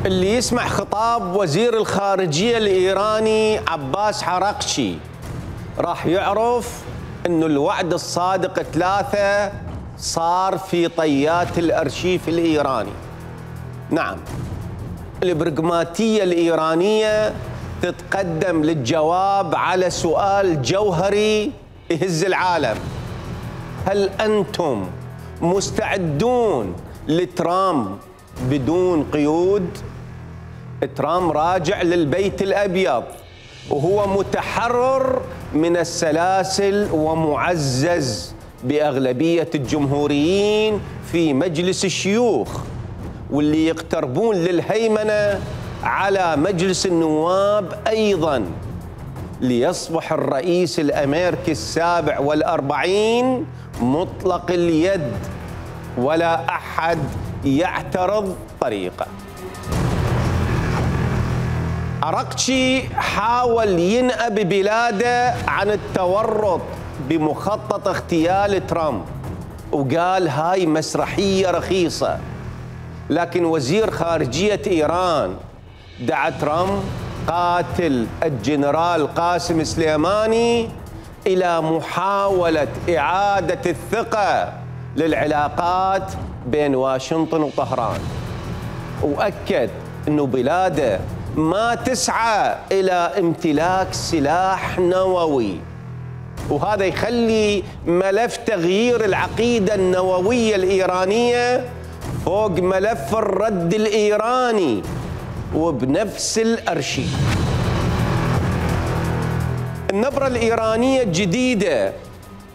اللي يسمع خطاب وزير الخارجية الإيراني عباس عراقچي راح يعرف أنه الوعد الصادق 3 صار في طيات الأرشيف الإيراني. نعم، البرغماتية الإيرانية تتقدم للجواب على سؤال جوهري يهز العالم: هل أنتم مستعدون لترامب بدون قيود؟ ترامب راجع للبيت الأبيض وهو متحرر من السلاسل ومعزز بأغلبية الجمهوريين في مجلس الشيوخ، واللي يقتربون للهيمنة على مجلس النواب أيضاً، ليصبح الرئيس الأمريكي 47 مطلق اليد ولا أحد يعترض طريقه. عراقچي حاول ينأب بلاده عن التورط بمخطط اغتيال ترامب وقال هاي مسرحية رخيصة، لكن وزير خارجية إيران دعا ترامب قاتل الجنرال قاسم سليماني إلى محاولة إعادة الثقة للعلاقات بين واشنطن وطهران، وأكد أنه بلاده ما تسعى إلى امتلاك سلاح نووي، وهذا يخلي ملف تغيير العقيدة النووية الإيرانية فوق ملف الرد الإيراني وبنفس الأرشيف. النبرة الإيرانية الجديدة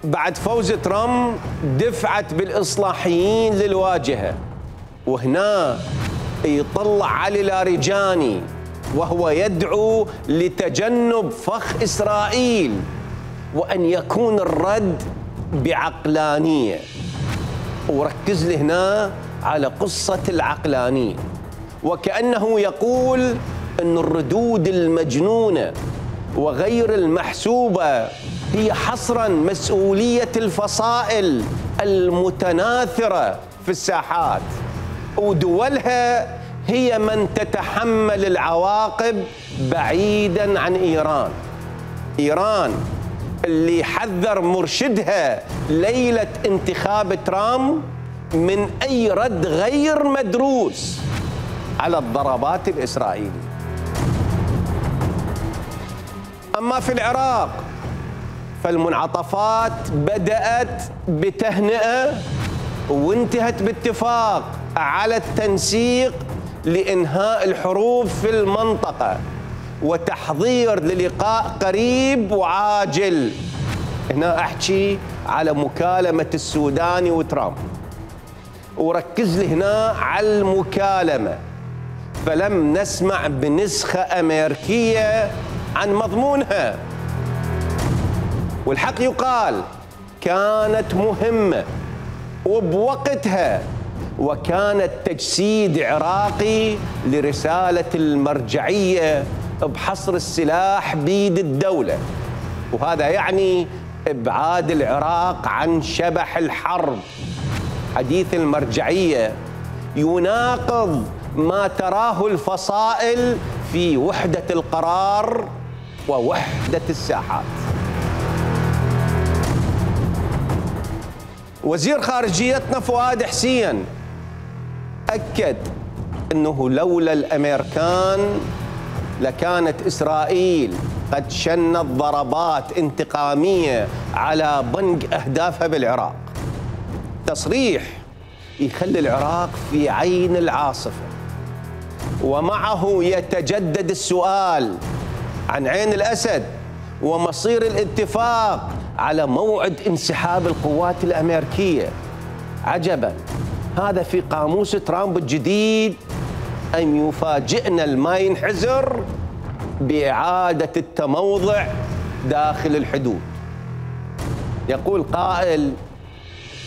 بعد فوز ترامب دفعت بالإصلاحيين للواجهة، وهنا يطلع علي لاریجانی وهو يدعو لتجنب فخ إسرائيل وأن يكون الرد بعقلانية، وركز لي هنا على قصة العقلانية، وكأنه يقول أن الردود المجنونة وغير المحسوبة هي حصراً مسؤولية الفصائل المتناثرة في الساحات، ودولها هي من تتحمل العواقب بعيداً عن إيران. إيران اللي حذر مرشدها ليلة انتخاب ترامب من أي رد غير مدروس على الضربات الإسرائيلية. أما في العراق فالمنعطفات بدأت بتهنئة وانتهت باتفاق على التنسيق لإنهاء الحروب في المنطقة وتحضير للقاء قريب وعاجل. هنا أحكي على مكالمة السوداني وترامب، وركز لي هنا على المكالمة، فلم نسمع بنسخة أمريكية عن مضمونها، والحق يقال كانت مهمة وبوقتها، وكانت تجسيد عراقي لرسالة المرجعية بحصر السلاح بيد الدولة، وهذا يعني إبعاد العراق عن شبح الحرب. حديث المرجعية يناقض ما تراه الفصائل في وحدة القرار ووحدة الساحات. وزير خارجيتنا فؤاد حسين أكد أنه لولا الأمريكان لكانت إسرائيل قد شنت ضربات انتقامية على بنج أهدافها بالعراق. تصريح يخلي العراق في عين العاصفة، ومعه يتجدد السؤال عن عين الأسد ومصير الاتفاق على موعد انسحاب القوات الأمريكية. عجباً، هذا في قاموس ترامب الجديد أن يفاجئنا ما ينحزر بإعادة التموضع داخل الحدود. يقول قائل: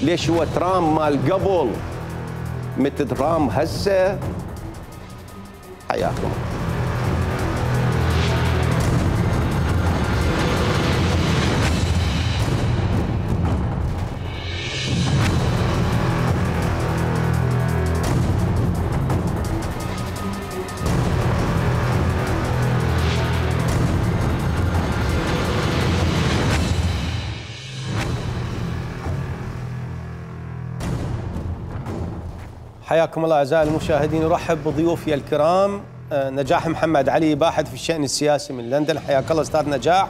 ليش هو ترامب مال قبل مثل ترامب هسه؟ حياكم. حياكم الله أعزائي المشاهدين. أرحب بضيوفي الكرام نجاح محمد علي، باحث في الشأن السياسي من لندن. حياك الله أستاذ نجاح.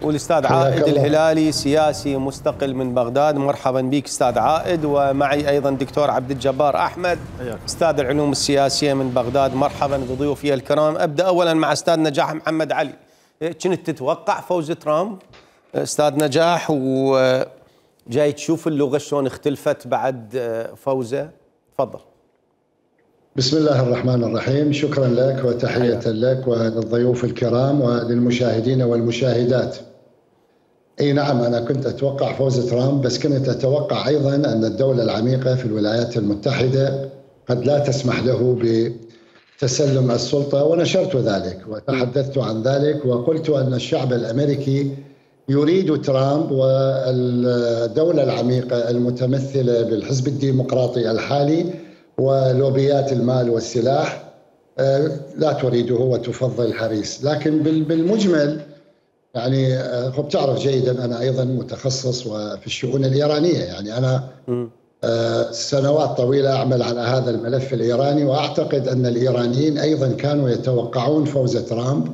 والأستاذ عائد الهلالي، سياسي مستقل من بغداد. مرحبا بك أستاذ عائد. ومعي أيضا دكتور عبد الجبار أحمد، أستاذ العلوم السياسية من بغداد. مرحبا بضيوفي الكرام. أبدأ أولا مع أستاذ نجاح محمد علي. كنت تتوقع فوز ترامب أستاذ نجاح، وجاي تشوف اللغة شلون اختلفت بعد فوزه؟ تفضل. بسم الله الرحمن الرحيم. شكرا لك وتحية لك وللضيوف الكرام وللمشاهدين والمشاهدات. اي نعم، انا كنت اتوقع فوز ترامب، بس كنت اتوقع ايضا ان الدولة العميقة في الولايات المتحدة قد لا تسمح له بتسلم السلطة، ونشرت ذلك وتحدثت عن ذلك وقلت ان الشعب الامريكي يريد ترامب، والدولة العميقة المتمثلة بالحزب الديمقراطي الحالي ولوبيات المال والسلاح لا تريده وتفضل هاريس. لكن بالمجمل يعني بتعرف جيدا أنا أيضا متخصص في الشؤون الإيرانية، يعني أنا سنوات طويلة أعمل على هذا الملف الإيراني، وأعتقد أن الإيرانيين أيضا كانوا يتوقعون فوز ترامب،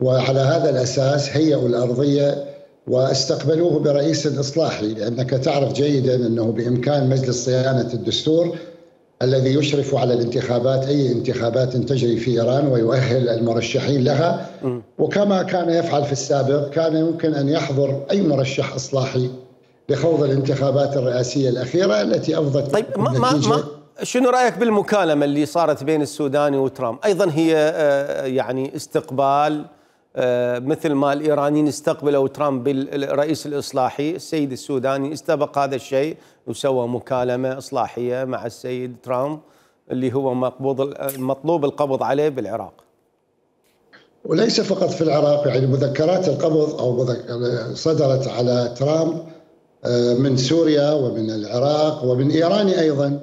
وعلى هذا الأساس هيئوا الأرضية واستقبلوه برئيس إصلاحي، لأنك تعرف جيدا أنه بإمكان مجلس صيانة الدستور الذي يشرف على الانتخابات، أي انتخابات تجري في إيران، ويؤهل المرشحين لها، وكما كان يفعل في السابق كان يمكن أن يحضر أي مرشح إصلاحي لخوض الانتخابات الرئاسية الأخيرة التي أفضت. طيب شنو رأيك بالمكالمة اللي صارت بين السوداني وترامب؟ أيضا هي يعني استقبال مثل ما الإيرانيين استقبلوا ترامب بالرئيس الإصلاحي، السيد السوداني استبق هذا الشيء وسوى مكالمة إصلاحية مع السيد ترامب اللي هو مطلوب القبض عليه بالعراق. وليس فقط في العراق، يعني مذكرات القبض أو صدرت على ترامب من سوريا ومن العراق ومن إيران أيضا.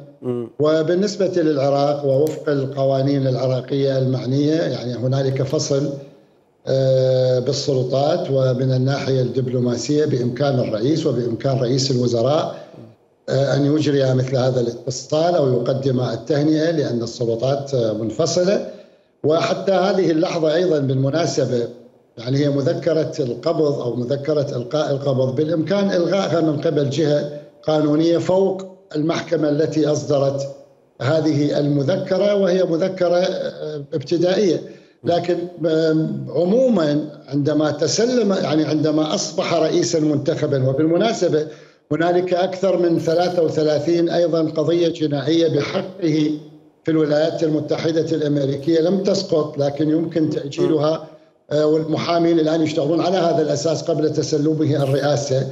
وبالنسبة للعراق ووفق القوانين العراقية المعنية، يعني هنالك فصل بالسلطات، ومن الناحية الدبلوماسية بإمكان الرئيس وبإمكان رئيس الوزراء أن يجري مثل هذا الاتصال أو يقدم التهنئة، لأن السلطات منفصلة. وحتى هذه اللحظة أيضا بالمناسبة يعني هي مذكرة القبض أو مذكرة إلقاء القبض بالإمكان إلغائها من قبل جهة قانونية فوق المحكمة التي أصدرت هذه المذكرة، وهي مذكرة ابتدائية. لكن عموما عندما تسلم، يعني عندما أصبح رئيسا منتخبا، وبالمناسبة هنالك أكثر من 33 أيضا قضية جنائية بحقه في الولايات المتحدة الأمريكية لم تسقط، لكن يمكن تأجيلها، والمحامين الآن يشتغلون على هذا الأساس قبل تسلمه الرئاسة.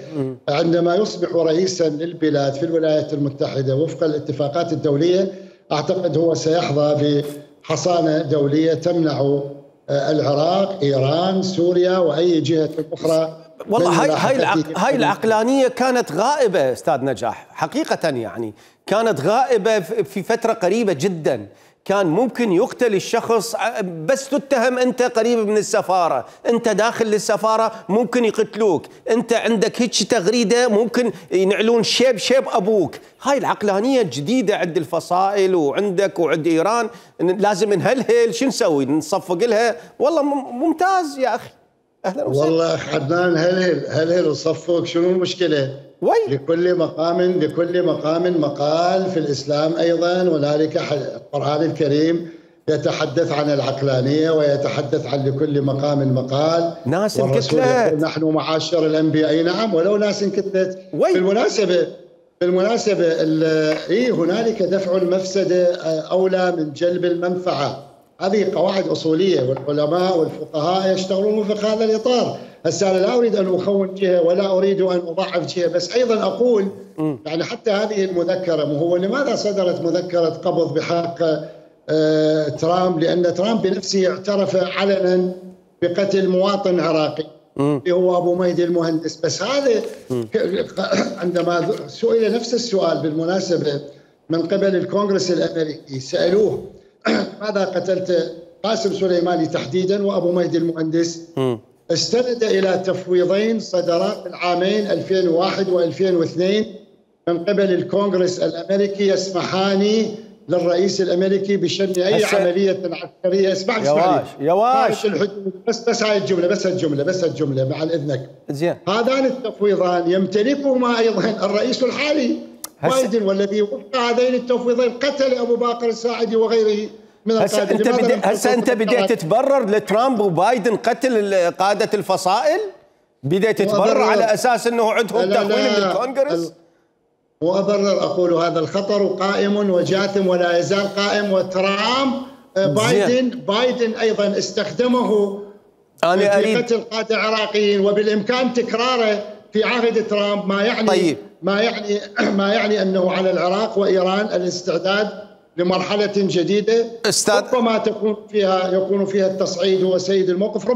عندما يصبح رئيسا للبلاد في الولايات المتحدة وفق الاتفاقات الدولية، أعتقد هو سيحظى بحصانة دولية تمنع العراق، إيران، سوريا وأي جهة أخرى. والله هاي العقلانية كانت غائبة أستاذ نجاح حقيقة، يعني كانت غائبة في فترة قريبة جدا. كان ممكن يقتل الشخص بس تتهم أنت قريب من السفارة، أنت داخل للسفارة ممكن يقتلوك، أنت عندك هيك تغريدة ممكن ينعلون شيب أبوك. هاي العقلانية جديدة عند الفصائل وعندك وعند إيران، لازم نهلهل. شو نسوي؟ نصفق لها؟ والله ممتاز يا أخي، أهلا وسهلا. والله عدنان هلهل وصفق، شنو المشكلة؟ لكل مقام مقال في الإسلام أيضا. هنالك القرآن الكريم يتحدث عن العقلانية ويتحدث عن لكل مقام مقال. ناس والرسول يقول نحن معاشر الأنبياء. نعم، ولو ناس انكتلت. بالمناسبة هنالك دفع المفسدة أولى من جلب المنفعة. هذه قواعد أصولية، والعلماء والفقهاء يشتغلون في هذا الإطار. هسه أنا لا أريد أن أخون جهة ولا أريد أن أضعف جهة، بس أيضا أقول يعني حتى هذه المذكرة، هو لماذا صدرت مذكرة قبض بحق ترامب؟ لأن ترامب بنفسه اعترف علنا بقتل مواطن عراقي اللي هو أبو مهدي المهندس. بس هذا عندما سئل نفس السؤال بالمناسبة من قبل الكونغرس الأمريكي، سألوه ماذا قتلت قاسم سليماني تحديدا وأبو مهدي المهندس؟ استند إلى تفويضين صدرا في العامين 2001 و2002 من قبل الكونغرس الأمريكي يسمحان للرئيس الامريكي بشن اي عمليه عسكريه. اسمعني يواش الحدود. بس هاي الجمله بعد اذنك. زين. هذان التفويضان يمتلكهما ايضا الرئيس الحالي بايدن، والذي وفق هذين التفويضين قتل ابو باكر الساعدي وغيره من القاده. هسه انت بديت تتبرر لترامب وبايدن قتل قاده الفصائل؟ بديت تتبرر على اساس انه عندهم تقويم من الكونغرس؟ وأبرر أقول هذا الخطر قائم وجاثم ولا يزال قائم، وترامب بايدن أيضا استخدمه في قتل قادة عراقيين، وبالإمكان تكراره في عهد ترامب، ما يعني أنه على العراق وإيران الاستعداد لمرحلة جديدة ربما يكون فيها التصعيد هو سيد الموقف،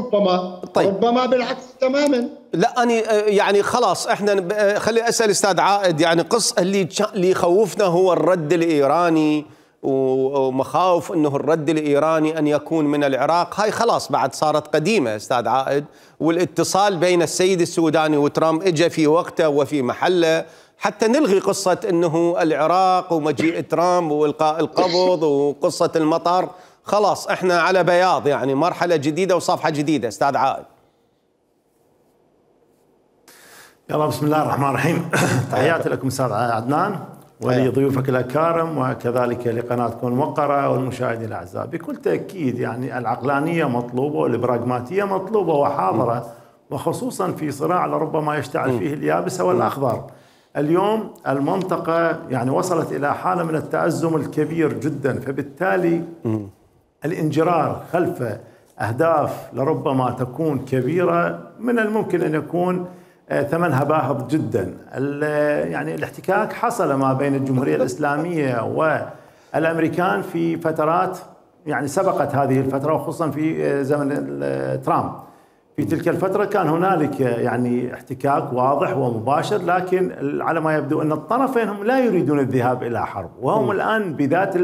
ربما بالعكس تماما. لا أنا يعني خلاص احنا خلي أسأل أستاذ عائد، يعني اللي يخوفنا هو الرد الإيراني ومخاوف أنه الرد الإيراني أن يكون من العراق، هاي خلاص بعد صارت قديمة أستاذ عائد، والاتصال بين السيد السوداني وترامب إجا في وقته وفي محله حتى نلغي قصة أنه العراق ومجيء ترامب وإلقاء القبض وقصة المطار. خلاص احنا على بياض، يعني مرحلة جديدة وصفحة جديدة. أستاذ عائد. يلا بسم الله الرحمن الرحيم. تحياتي لكم أستاذ عدنان ولضيوفك الأكارم وكذلك لقناتكم الموقرة والمشاهدين الأعزاء. بكل تأكيد يعني العقلانية مطلوبة والبراغماتية مطلوبة وحاضرة، وخصوصا في صراع لربما يشتعل فيه اليابس والأخضر. اليوم المنطقة يعني وصلت إلى حالة من التأزم الكبير جدا، فبالتالي الانجرار خلف أهداف لربما تكون كبيرة من الممكن أن يكون ثمنها باهظ جدا. يعني الاحتكاك حصل ما بين الجمهورية الإسلامية والأمريكان في فترات يعني سبقت هذه الفترة، وخصوصا في زمن ترامب. في تلك الفترة كان هنالك يعني احتكاك واضح ومباشر، لكن على ما يبدو أن الطرفين هم لا يريدون الذهاب إلى حرب، وهم الآن بذات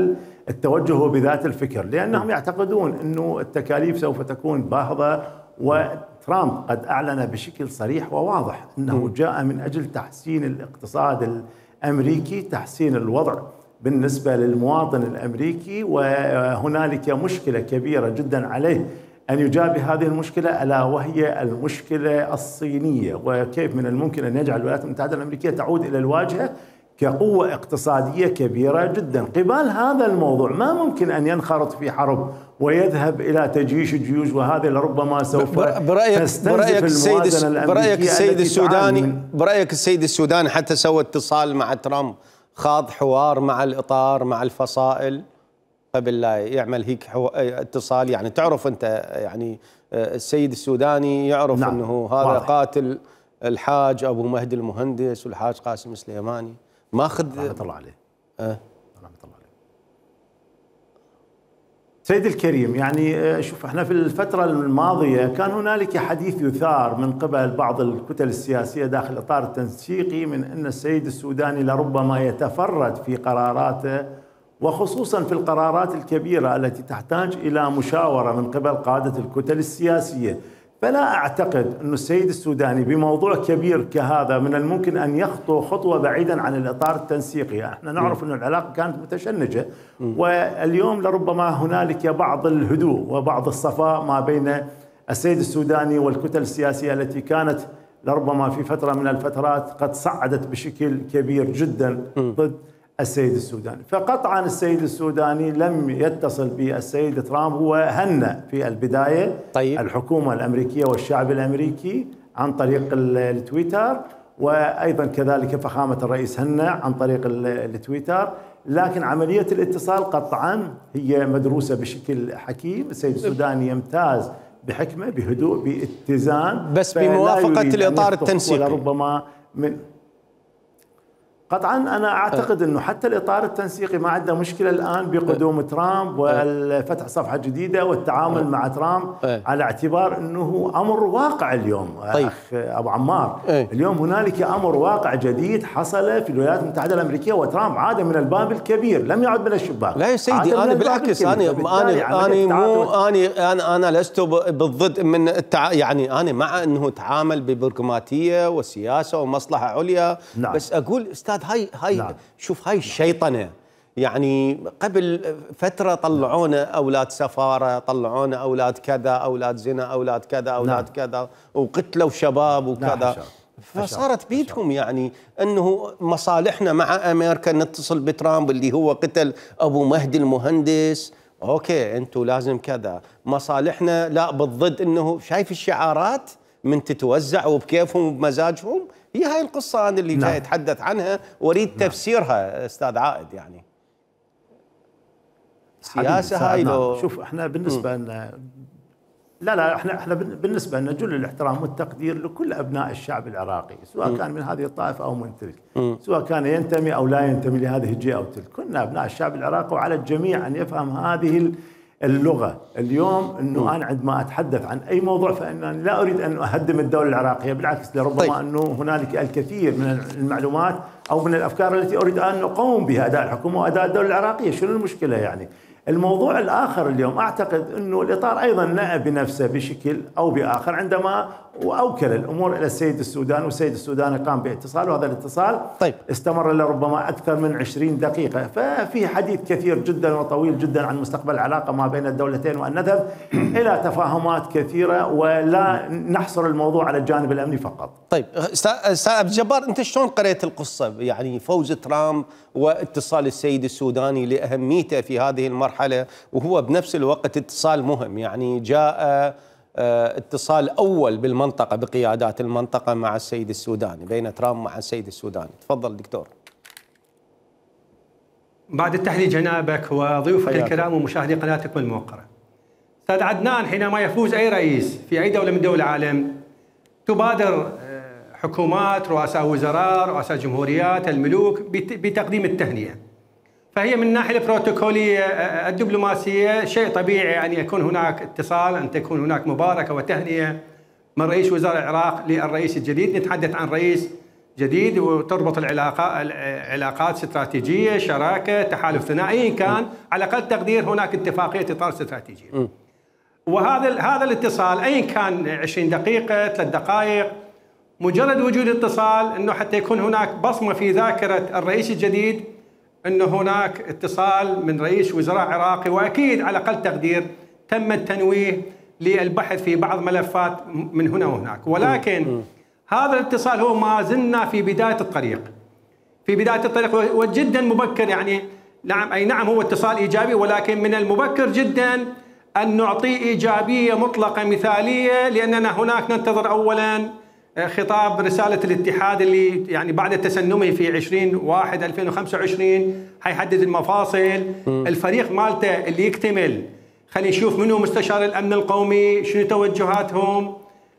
التوجه وبذات الفكر، لأنهم يعتقدون أنه التكاليف سوف تكون باهظة. وترامب قد أعلن بشكل صريح وواضح أنه جاء من أجل تحسين الاقتصاد الأمريكي، تحسين الوضع بالنسبة للمواطن الأمريكي، وهنالك مشكلة كبيرة جدا عليه أن يجابه هذه المشكلة، ألا وهي المشكلة الصينية، وكيف من الممكن أن يجعل الولايات المتحدة الأمريكية تعود إلى الواجهة كقوة اقتصادية كبيرة جدا. قبال هذا الموضوع ما ممكن أن ينخرط في حرب ويذهب إلى تجيش الجيوش، وهذا لربما سوف تستنزف الموازنة الأمريكية. برأيك السيد السوداني حتى سوى اتصال مع ترامب، خاض حوار مع الإطار مع الفصائل قبل لا يعمل هيك اتصال؟ يعني تعرف أنت يعني السيد السوداني يعرف نعم. أنه هذا واضح. قاتل الحاج أبو مهدي المهندس والحاج قاسم السليماني، ماخذ رحمة الله عليه. رحمة الله عليه. سيدي الكريم، يعني شوف احنا في الفترة الماضية كان هنالك حديث يثار من قبل بعض الكتل السياسية داخل الإطار التنسيقي من أن السيد السوداني لربما يتفرد في قراراته، وخصوصا في القرارات الكبيرة التي تحتاج إلى مشاورة من قبل قادة الكتل السياسية. فلا أعتقد أن السيد السوداني بموضوع كبير كهذا من الممكن أن يخطو خطوة بعيدا عن الإطار التنسيقي. احنا نعرف أن العلاقة كانت متشنجة، واليوم لربما هنالك بعض الهدوء وبعض الصفاء ما بين السيد السوداني والكتل السياسية التي كانت لربما في فترة من الفترات قد صعدت بشكل كبير جدا ضد السيد السوداني. فقطعا السيد السوداني لم يتصل بالسيد ترامب، هو هنأ في البداية الحكومة الأمريكية والشعب الأمريكي عن طريق التويتر، وأيضا كذلك فخامة الرئيس هنأ عن طريق التويتر، لكن عملية الاتصال قطعا هي مدروسة بشكل حكيم. السيد السوداني يمتاز بحكمة، بهدوء، باتزان، بس بموافقة الإطار التنسيقي. ربما من قطعا أنا أعتقد أنه حتى الإطار التنسيقي ما عنده مشكلة الآن بقدوم ترامب والفتح صفحة جديدة والتعامل مع ترامب، على اعتبار أنه أمر واقع اليوم. أخ أبو عمار، اليوم هنالك أمر واقع جديد حصل في الولايات المتحدة الأمريكية، وترامب عاد من الباب الكبير، لم يعد من الشباك. لا يا سيدي، أنا بالعكس، أنا لست بالضد من يعني أنا مع أنه تعامل ببرغماتية وسياسة ومصلحة عليا. نعم. بس أقول أستاذ هاي نعم. شوف هاي الشيطنة، يعني قبل فترة طلعونا أولاد سفارة، طلعونا أولاد كذا، أولاد زنا، أولاد كذا، أولاد كذا، وقتلوا شباب وكذا. فصارت بيدهم يعني أنه مصالحنا مع أمريكا نتصل بترامب اللي هو قتل أبو مهدي المهندس، أوكي أنتوا لازم كذا، مصالحنا لا بالضد. أنه شايف الشعارات من تتوزع وبكيفهم وبمزاجهم. هي هاي القصة أنا اللي جاي أتحدث عنها وأريد تفسيرها أستاذ عائد. يعني سياسة هاي لو شوف احنا بالنسبة لنا لا احنا بالنسبة لنا جل الاحترام والتقدير لكل أبناء الشعب العراقي، سواء كان من هذه الطائفة أو من تلك، سواء كان ينتمي أو لا ينتمي لهذه الجهة أو تلك، كنا أبناء الشعب العراقي، وعلى الجميع أن يفهم هذه اللغة. اليوم أنه أنا عندما أتحدث عن أي موضوع فإنني لا أريد أن أهدم الدولة العراقية، بالعكس لربما أنه هنالك الكثير من المعلومات أو من الأفكار التي أريد أن أقوم بها أداء الحكومة وأداء الدولة العراقية. شنو المشكلة يعني؟ الموضوع الآخر اليوم أعتقد أنه الإطار أيضا نأى بنفسه بشكل أو بآخر عندما وأوكل الأمور إلى السيد السوداني، والسيد السوداني قام باتصال، وهذا الاتصال استمر لربما أكثر من 20 دقيقة. ففي حديث كثير جدا وطويل جدا عن مستقبل العلاقة ما بين الدولتين، وأن نذهب إلى تفاهمات كثيرة ولا نحصر الموضوع على الجانب الأمني فقط. طيب أستاذ عبد الجبار، أنت شلون قرأت القصة؟ يعني فوز ترامب واتصال السيد السوداني لأهميته في هذه المرحلة، وهو بنفس الوقت اتصال مهم. يعني جاء اتصال أول بالمنطقة بقيادات المنطقة مع السيد السوداني، بين ترامب مع السيد السوداني. تفضل دكتور. بعد التحليل جنابك وضيوفك الكرام ومشاهدي قناتكم الموقرة. أستاذ عدنان، حينما يفوز أي رئيس في أي دولة من دول العالم تبادر حكومات، رؤساء وزراء، رؤساء جمهوريات، الملوك بتقديم التهنئة. فهي من الناحية البروتوكولية الدبلوماسية شيء طبيعي أن يكون هناك اتصال، أن تكون هناك مباركة وتهنئة من رئيس وزراء العراق للرئيس الجديد. نتحدث عن رئيس جديد وتربط العلاقات استراتيجية، شراكة، تحالف ثنائي، كان على أقل تقدير هناك اتفاقية إطار استراتيجية. وهذا الاتصال أي كان 20 دقيقة 3 دقائق، مجرد وجود اتصال أنه حتى يكون هناك بصمة في ذاكرة الرئيس الجديد أنه هناك اتصال من رئيس وزراء عراقي، وأكيد على أقل تقدير تم التنويه للبحث في بعض ملفات من هنا وهناك. ولكن هذا الاتصال هو ما زلنا في بداية الطريق، وجدا مبكر. يعني نعم، أي نعم هو اتصال إيجابي، ولكن من المبكر جدا أن نعطيه إيجابية مطلقة مثالية، لأننا هناك ننتظر أولا خطاب رسالة الاتحاد اللي يعني بعد تسنمه في 20/1/2025 حيحدد المفاصل. الفريق مالته اللي يكتمل، خلينا نشوف منو مستشار الأمن القومي، شنو توجهاتهم،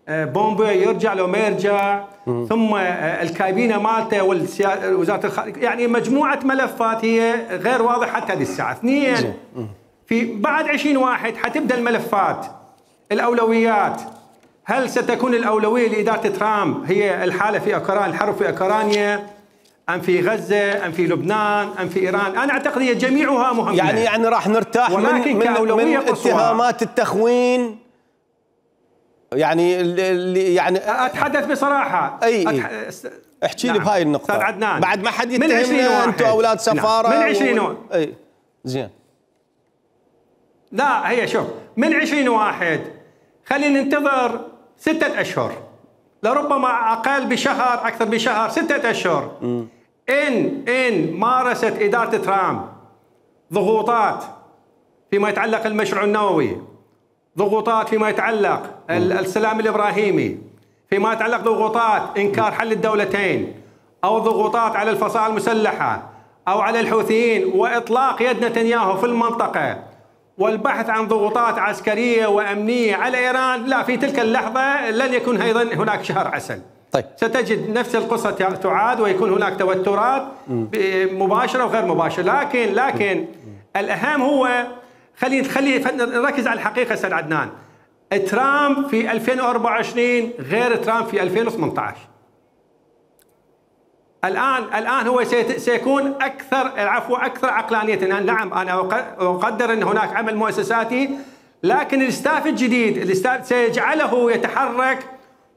بومبي يرجع لو ما يرجع، ثم الكابينة مالته وزارة الخارجية. يعني مجموعة ملفات هي غير واضحة حتى هذه الساعة. 2 في بعد 20/1 حتبدأ الملفات، الأولويات. هل ستكون الأولوية لإدارة ترامب هي الحالة في أوكرانيا، الحرب في أوكرانيا، أم في غزة، أم في لبنان، أم في إيران؟ أنا أعتقد هي جميعها مهمة. يعني راح نرتاح من اتهامات التخوين. يعني أتحدث بصراحة. احكي لي بهاي النقطة. أستاذ عدنان، بعد ما حد يتهمنا أنتم أولاد سفارة. من 20 زين. لا هي شوف، من 20/1 خلينا ننتظر 6 أشهر، لربما أقل بشهر، أكثر بشهر، 6 أشهر. إن مارست إدارة ترامب ضغوطات فيما يتعلق المشروع النووي، ضغوطات فيما يتعلق السلام الإبراهيمي، فيما يتعلق ضغوطات إنكار حل الدولتين، أو ضغوطات على الفصائل المسلحة أو على الحوثيين، وإطلاق يد نتنياهو في المنطقة، والبحث عن ضغوطات عسكرية وأمنية على إيران، لا، في تلك اللحظة لن يكون أيضا هناك شهر عسل. طيب. ستجد نفس القصة تعاد، ويكون هناك توترات مباشرة وغير مباشرة. لكن الأهم هو خلي نركز على الحقيقة. أستاذ عدنان، ترامب في 2024 غير ترامب في 2018. الآن هو سيكون أكثر عقلانية. نعم أنا أقدر أن هناك عمل مؤسساتي، لكن الاستاف الجديد سيجعله يتحرك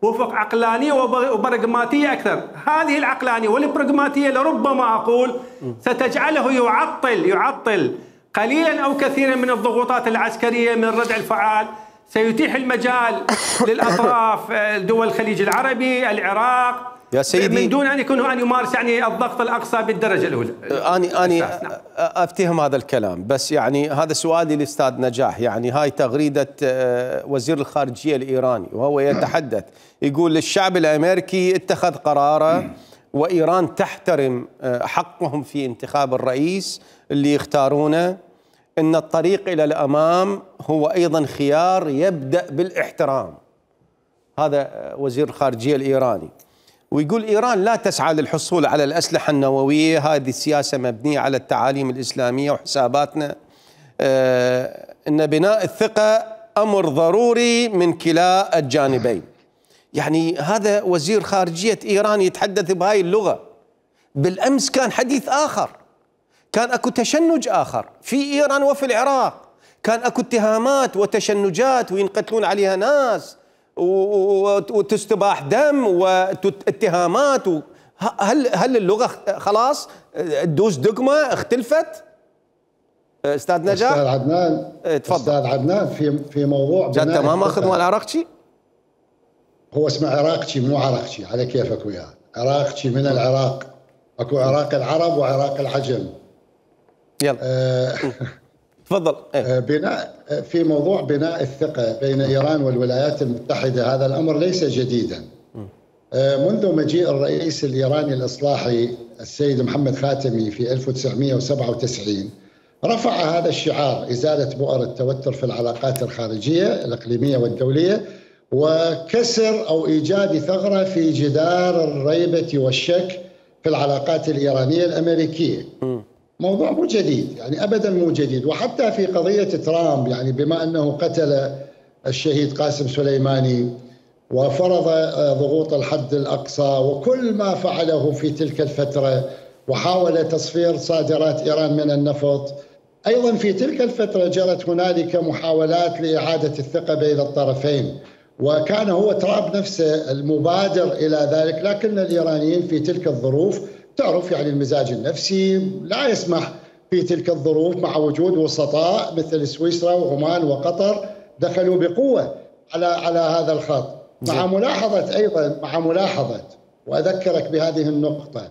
وفق عقلانية وبراغماتية أكثر. هذه العقلانية والبراغماتية لربما أقول ستجعله يعطل قليلا أو كثيرا من الضغوطات العسكرية من ردع الفعال، سيتيح المجال للأطراف دول الخليج العربي، العراق، يا سيدي، من دون أن يمارس يعني الضغط الأقصى بالدرجة الأولى. أنا أفتهم هذا الكلام، بس يعني هذا سؤالي للأستاذ نجاح. يعني هاي تغريدة وزير الخارجية الإيراني وهو يتحدث، يقول الشعب الأمريكي اتخذ قراره وإيران تحترم حقهم في انتخاب الرئيس اللي يختارونه، إن الطريق إلى الأمام هو أيضا خيار يبدأ بالاحترام. هذا وزير الخارجية الإيراني. ويقول إيران لا تسعى للحصول على الأسلحة النووية، هذه السياسة مبنية على التعاليم الإسلامية وحساباتنا. إن بناء الثقة أمر ضروري من كلا الجانبين. يعني هذا وزير خارجية إيران يتحدث بهاي اللغة. بالأمس كان حديث آخر، كان أكو تشنج آخر في إيران وفي العراق، كان أكو اتهامات وتشنجات وينقتلون عليها ناس وتستباح دم واتهامات. هل اللغة خلاص تدوس دقمة اختلفت؟ استاذ نجاح. استاذ عدنان، تفضل. استاذ عدنان، في موضوع انت ما ماخذ مال عراقشي؟ هو اسمه عراقشي مو عراقشي، على كيفك وياه. عراقشي من العراق، اكو عراق العرب وعراق العجم. يلا تفضل. في موضوع بناء الثقة بين إيران والولايات المتحدة، هذا الأمر ليس جديدا. منذ مجيء الرئيس الإيراني الإصلاحي السيد محمد خاتمي في 1997 رفع هذا الشعار: إزالة بؤر التوتر في العلاقات الخارجية الإقليمية والدولية، وكسر أو إيجاد ثغرة في جدار الريبة والشك في العلاقات الإيرانية الأمريكية. موضوع مو جديد، يعني أبدا مو جديد. وحتى في قضية ترامب، يعني بما أنه قتل الشهيد قاسم سليماني وفرض ضغوط الحد الأقصى وكل ما فعله في تلك الفترة، وحاول تصفير صادرات إيران من النفط، أيضا في تلك الفترة جرت هنالك محاولات لإعادة الثقة بين الطرفين، وكان هو ترامب نفسه المبادر إلى ذلك. لكن الإيرانيين في تلك الظروف، تعرف يعني المزاج النفسي لا يسمح في تلك الظروف، مع وجود وسطاء مثل سويسرا وعمان وقطر دخلوا بقوة على هذا الخط. مع ملاحظة وأذكرك بهذه النقطة،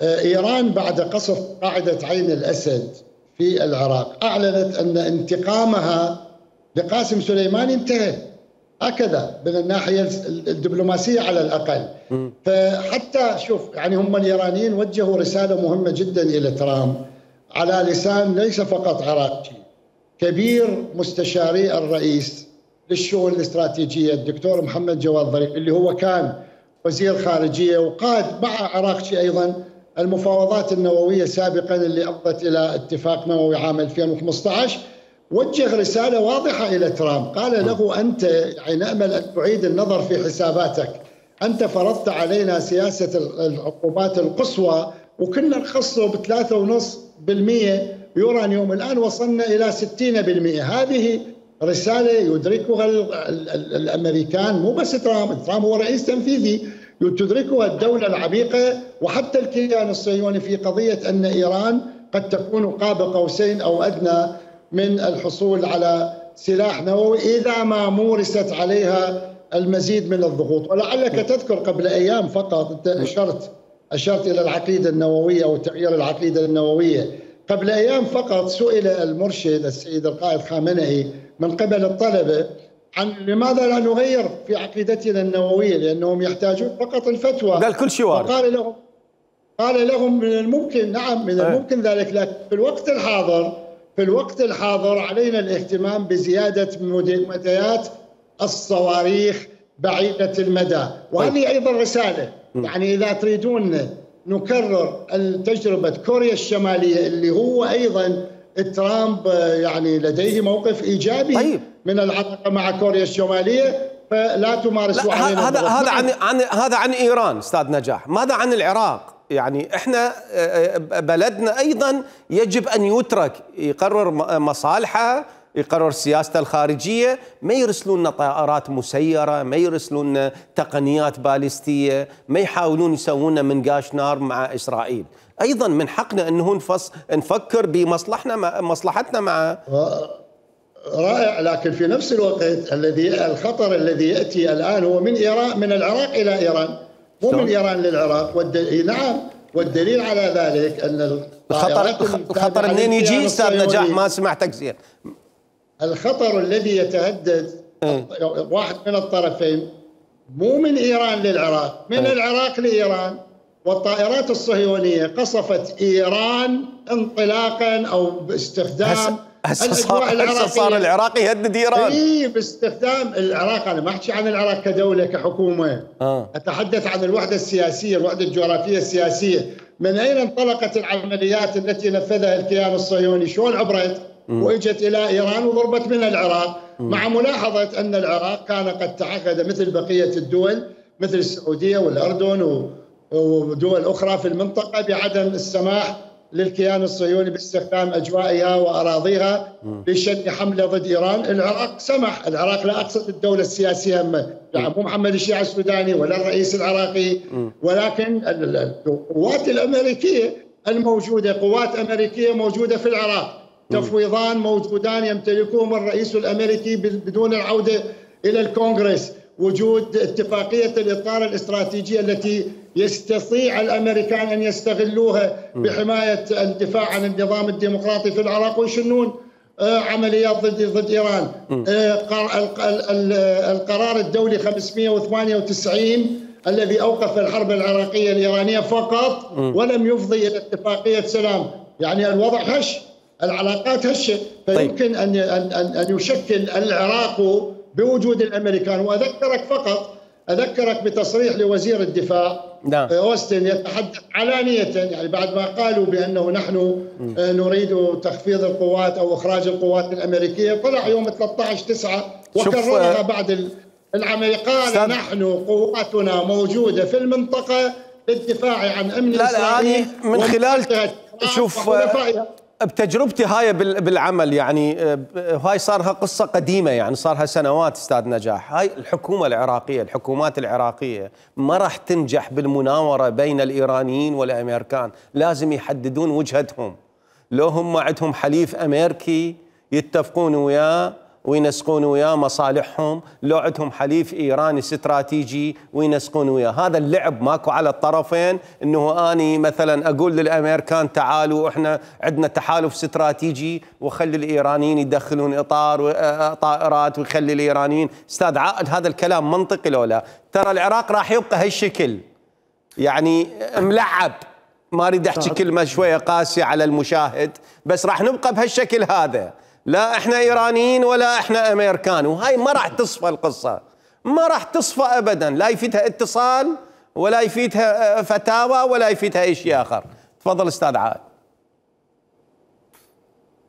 إيران بعد قصف قاعدة عين الأسد في العراق أعلنت أن انتقامها لقاسم سليماني انتهى، هكذا من الناحية الدبلوماسية على الأقل. فحتى شوف، يعني هم الإيرانيين وجهوا رسالة مهمة جدا إلى ترامب على لسان ليس فقط عراقي، كبير مستشاري الرئيس للشؤون الاستراتيجية الدكتور محمد جواد ظريف، اللي هو كان وزير خارجية وقاد مع عراقشي أيضا المفاوضات النووية سابقا اللي أفضت إلى اتفاق نووي عام 2015. وجه رسالة واضحة إلى ترامب، قال له: أنت يعني نأمل أن تعيد النظر في حساباتك، أنت فرضت علينا سياسة العقوبات القصوى وكنا نخصه ب 3.5% يورانيوم، الآن وصلنا إلى 60%. هذه رسالة يدركها الأمريكان، مو بس ترامب هو رئيس تنفيذي، تدركها الدولة العميقة وحتى الكيان الصهيوني في قضية أن إيران قد تكون قاب قوسين أو أدنى من الحصول على سلاح نووي إذا ما مورست عليها المزيد من الضغوط. ولعلك تذكر قبل أيام فقط، أنت أشرت إلى العقيدة النووية أو تغيير العقيدة النووية، قبل أيام فقط سئل المرشد السيد القائد خامنئي من قبل الطلبة عن لماذا لا نغير في عقيدتنا النووية، لأنهم يحتاجون فقط الفتوى. قال كل شيء وارد. قال لهم من الممكن، نعم من الممكن ذلك، لكن في الوقت الحاضر علينا الاهتمام بزيادة مديات الصواريخ بعيدة المدى. وهذه أيضا رسالة، يعني إذا تريدون نكرر تجربة كوريا الشمالية اللي هو أيضا ترامب يعني لديه موقف إيجابي من العلاقة مع كوريا الشمالية، فلا تمارسوا علينا. هذا عن إيران أستاذ نجاح. ماذا عن العراق؟ يعني احنا بلدنا ايضا يجب ان يترك يقرر مصالحه يقرر سياسته الخارجية، ما يرسلون لنا طائرات مسيرة، ما يرسلون لنا تقنيات باليستية، ما يحاولون يسوون منقاش نار مع إسرائيل. أيضا من حقنا أنه نفكر بمصلحتنا مع رائع. لكن في نفس الوقت الخطر الذي يأتي الآن هو من إيران، من العراق إلى إيران، مو من إيران للعراق. نعم، والدليل على ذلك أن الخطر منين يجي أستاذ نجاح؟ ما سمعتك زين. الخطر الذي يتهدد واحد من الطرفين مو من إيران للعراق، من العراق لإيران. والطائرات الصهيونية قصفت إيران انطلاقا أو باستخدام هسه صار العراق يهدد إيران. اي باستخدام العراق. أنا ما أحكي عن العراق كدولة كحكومة، أتحدث عن الوحدة السياسية، الوحدة الجغرافية السياسية. من أين انطلقت العمليات التي نفذها الكيان الصهيوني؟ شلون عبرت وإجت إلى إيران وضربت من العراق، مع ملاحظة أن العراق كان قد تعهد مثل بقية الدول مثل السعودية والأردن ودول أخرى في المنطقة بعدم السماح للكيان الصهيوني باستخدام أجوائها وأراضيها لشن حملة ضد إيران. العراق سمح. العراق لا أقصد الدولة السياسية، يعني مو محمد الشيعي السوداني ولا الرئيس العراقي، ولكن القوات الأمريكية الموجودة، قوات أمريكية موجودة في العراق، تفويضان موجودان يمتلكهم الرئيس الأمريكي بدون العودة إلى الكونغرس، وجود اتفاقية الإطار الاستراتيجية التي يستطيع الأمريكان أن يستغلوها بحماية الدفاع عن النظام الديمقراطي في العراق ويشنون عمليات ضد إيران. القرار الدولي 598 الذي أوقف الحرب العراقية الإيرانية فقط ولم يفضي إلى اتفاقية سلام. يعني الوضع هش، العلاقات هشة. فيمكن أن يشكل العراق بوجود الأمريكان. وأذكرك بتصريح لوزير الدفاع أوستن يتحدث علانية، يعني بعد ما قالوا بأنه نحن نريد تخفيض القوات أو إخراج القوات الأمريكية، طلع يوم 13/9 وكررها بعد العملية، قال نحن قواتنا موجودة في المنطقة للدفاع عن أمن إسرائيل. من خلال شوف بتجربتي هاي بالعمل، يعني هاي صارها قصة قديمة، يعني صارها سنوات أستاذ نجاح. هاي الحكومة العراقية، الحكومات العراقية ما راح تنجح بالمناورة بين الإيرانيين والأمريكان. لازم يحددون وجهتهم. لو هم عندهم حليف أمريكي يتفقون وياه وينسقون وياه مصالحهم، لو عندهم حليف إيراني استراتيجي وينسقون وياه. هذا اللعب ماكو على الطرفين، إنه أني مثلا أقول للأمريكان تعالوا إحنا عندنا تحالف استراتيجي وخلي الإيرانيين يدخلون إطار طائرات ويخلي الإيرانيين. أستاذ عائد، هذا الكلام منطقي لو لا؟ ترى العراق راح يبقى هالشكل، يعني ملعب. ما أريد أحكي كلمة شوية قاسية على المشاهد، بس راح نبقى بهالشكل هذا. لا احنا ايرانيين ولا احنا امريكان، وهاي ما راح تصفى القصه، ما راح تصفى ابدا. لا يفيدها اتصال ولا يفيدها فتاوى ولا يفيدها اي شيء اخر. تفضل استاذ عائد.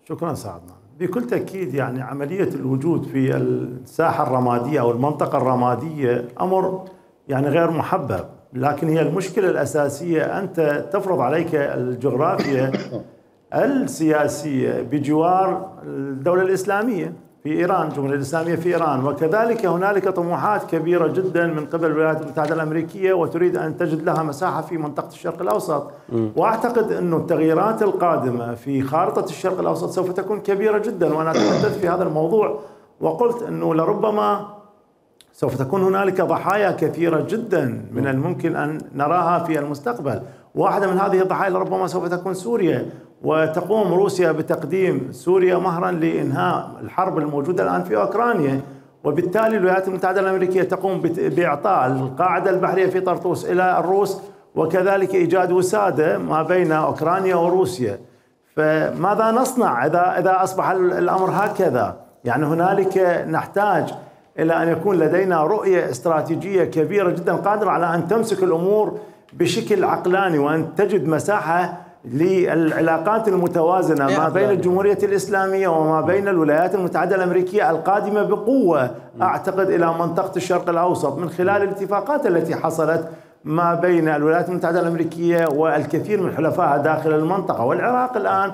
شكرا سعدنا. بكل تاكيد يعني عمليه الوجود في الساحه الرماديه او المنطقه الرماديه امر يعني غير محبب، لكن هي المشكله الاساسيه انت تفرض عليك الجغرافيا السياسية بجوار الدولة الإسلامية في إيران، الجمهورية الإسلامية في إيران، وكذلك هنالك طموحات كبيرة جدا من قبل الولايات المتحدة الأمريكية وتريد أن تجد لها مساحة في منطقة الشرق الأوسط. وأعتقد أن التغييرات القادمة في خارطة الشرق الأوسط سوف تكون كبيرة جدا، وأنا تحدثت في هذا الموضوع وقلت أنه لربما سوف تكون هنالك ضحايا كثيرة جدا من الممكن أن نراها في المستقبل. واحدة من هذه الضحايا لربما سوف تكون سوريا، وتقوم روسيا بتقديم سوريا مهرا لإنهاء الحرب الموجودة الآن في أوكرانيا، وبالتالي الولايات المتحدة الأمريكية تقوم بإعطاء القاعدة البحرية في طرطوس إلى الروس، وكذلك إيجاد وسادة ما بين أوكرانيا وروسيا. فماذا نصنع إذا أصبح الأمر هكذا؟ يعني هنالك نحتاج إلى أن يكون لدينا رؤية استراتيجية كبيرة جدا قادرة على أن تمسك الأمور بشكل عقلاني، وأن تجد مساحة للعلاقات المتوازنة ما بين الجمهورية الإسلامية وما بين الولايات المتحدة الأمريكية القادمة بقوة أعتقد إلى منطقة الشرق الأوسط من خلال الاتفاقات التي حصلت ما بين الولايات المتحدة الأمريكية والكثير من حلفائها داخل المنطقة. والعراق الآن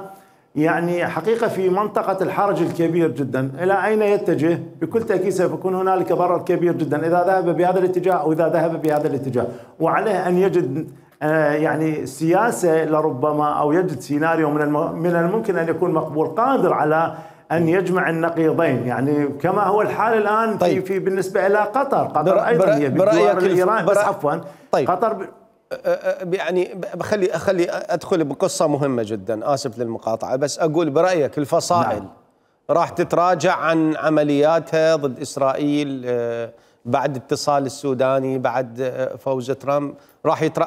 يعني حقيقة في منطقة الحرج الكبير جدا. إلى أين يتجه؟ بكل تأكيد سوف يكون هنالك ضرر كبير جدا إذا ذهب بهذا الاتجاه أو إذا ذهب بهذا الاتجاه، وعليه أن يجد يعني سياسة لربما، أو يجد سيناريو من الممكن أن يكون مقبول قادر على أن يجمع النقيضين، يعني كما هو الحال الآن. طيب. في بالنسبة إلى قطر أيضا هي بجوار الإيران، بس عفوا. طيب. قطر يعني خلي أدخل بقصة مهمة جدا، آسف للمقاطعة، بس أقول برأيك الفصائل راح تتراجع عن عملياتها ضد إسرائيل بعد اتصال السوداني، بعد فوز ترامب،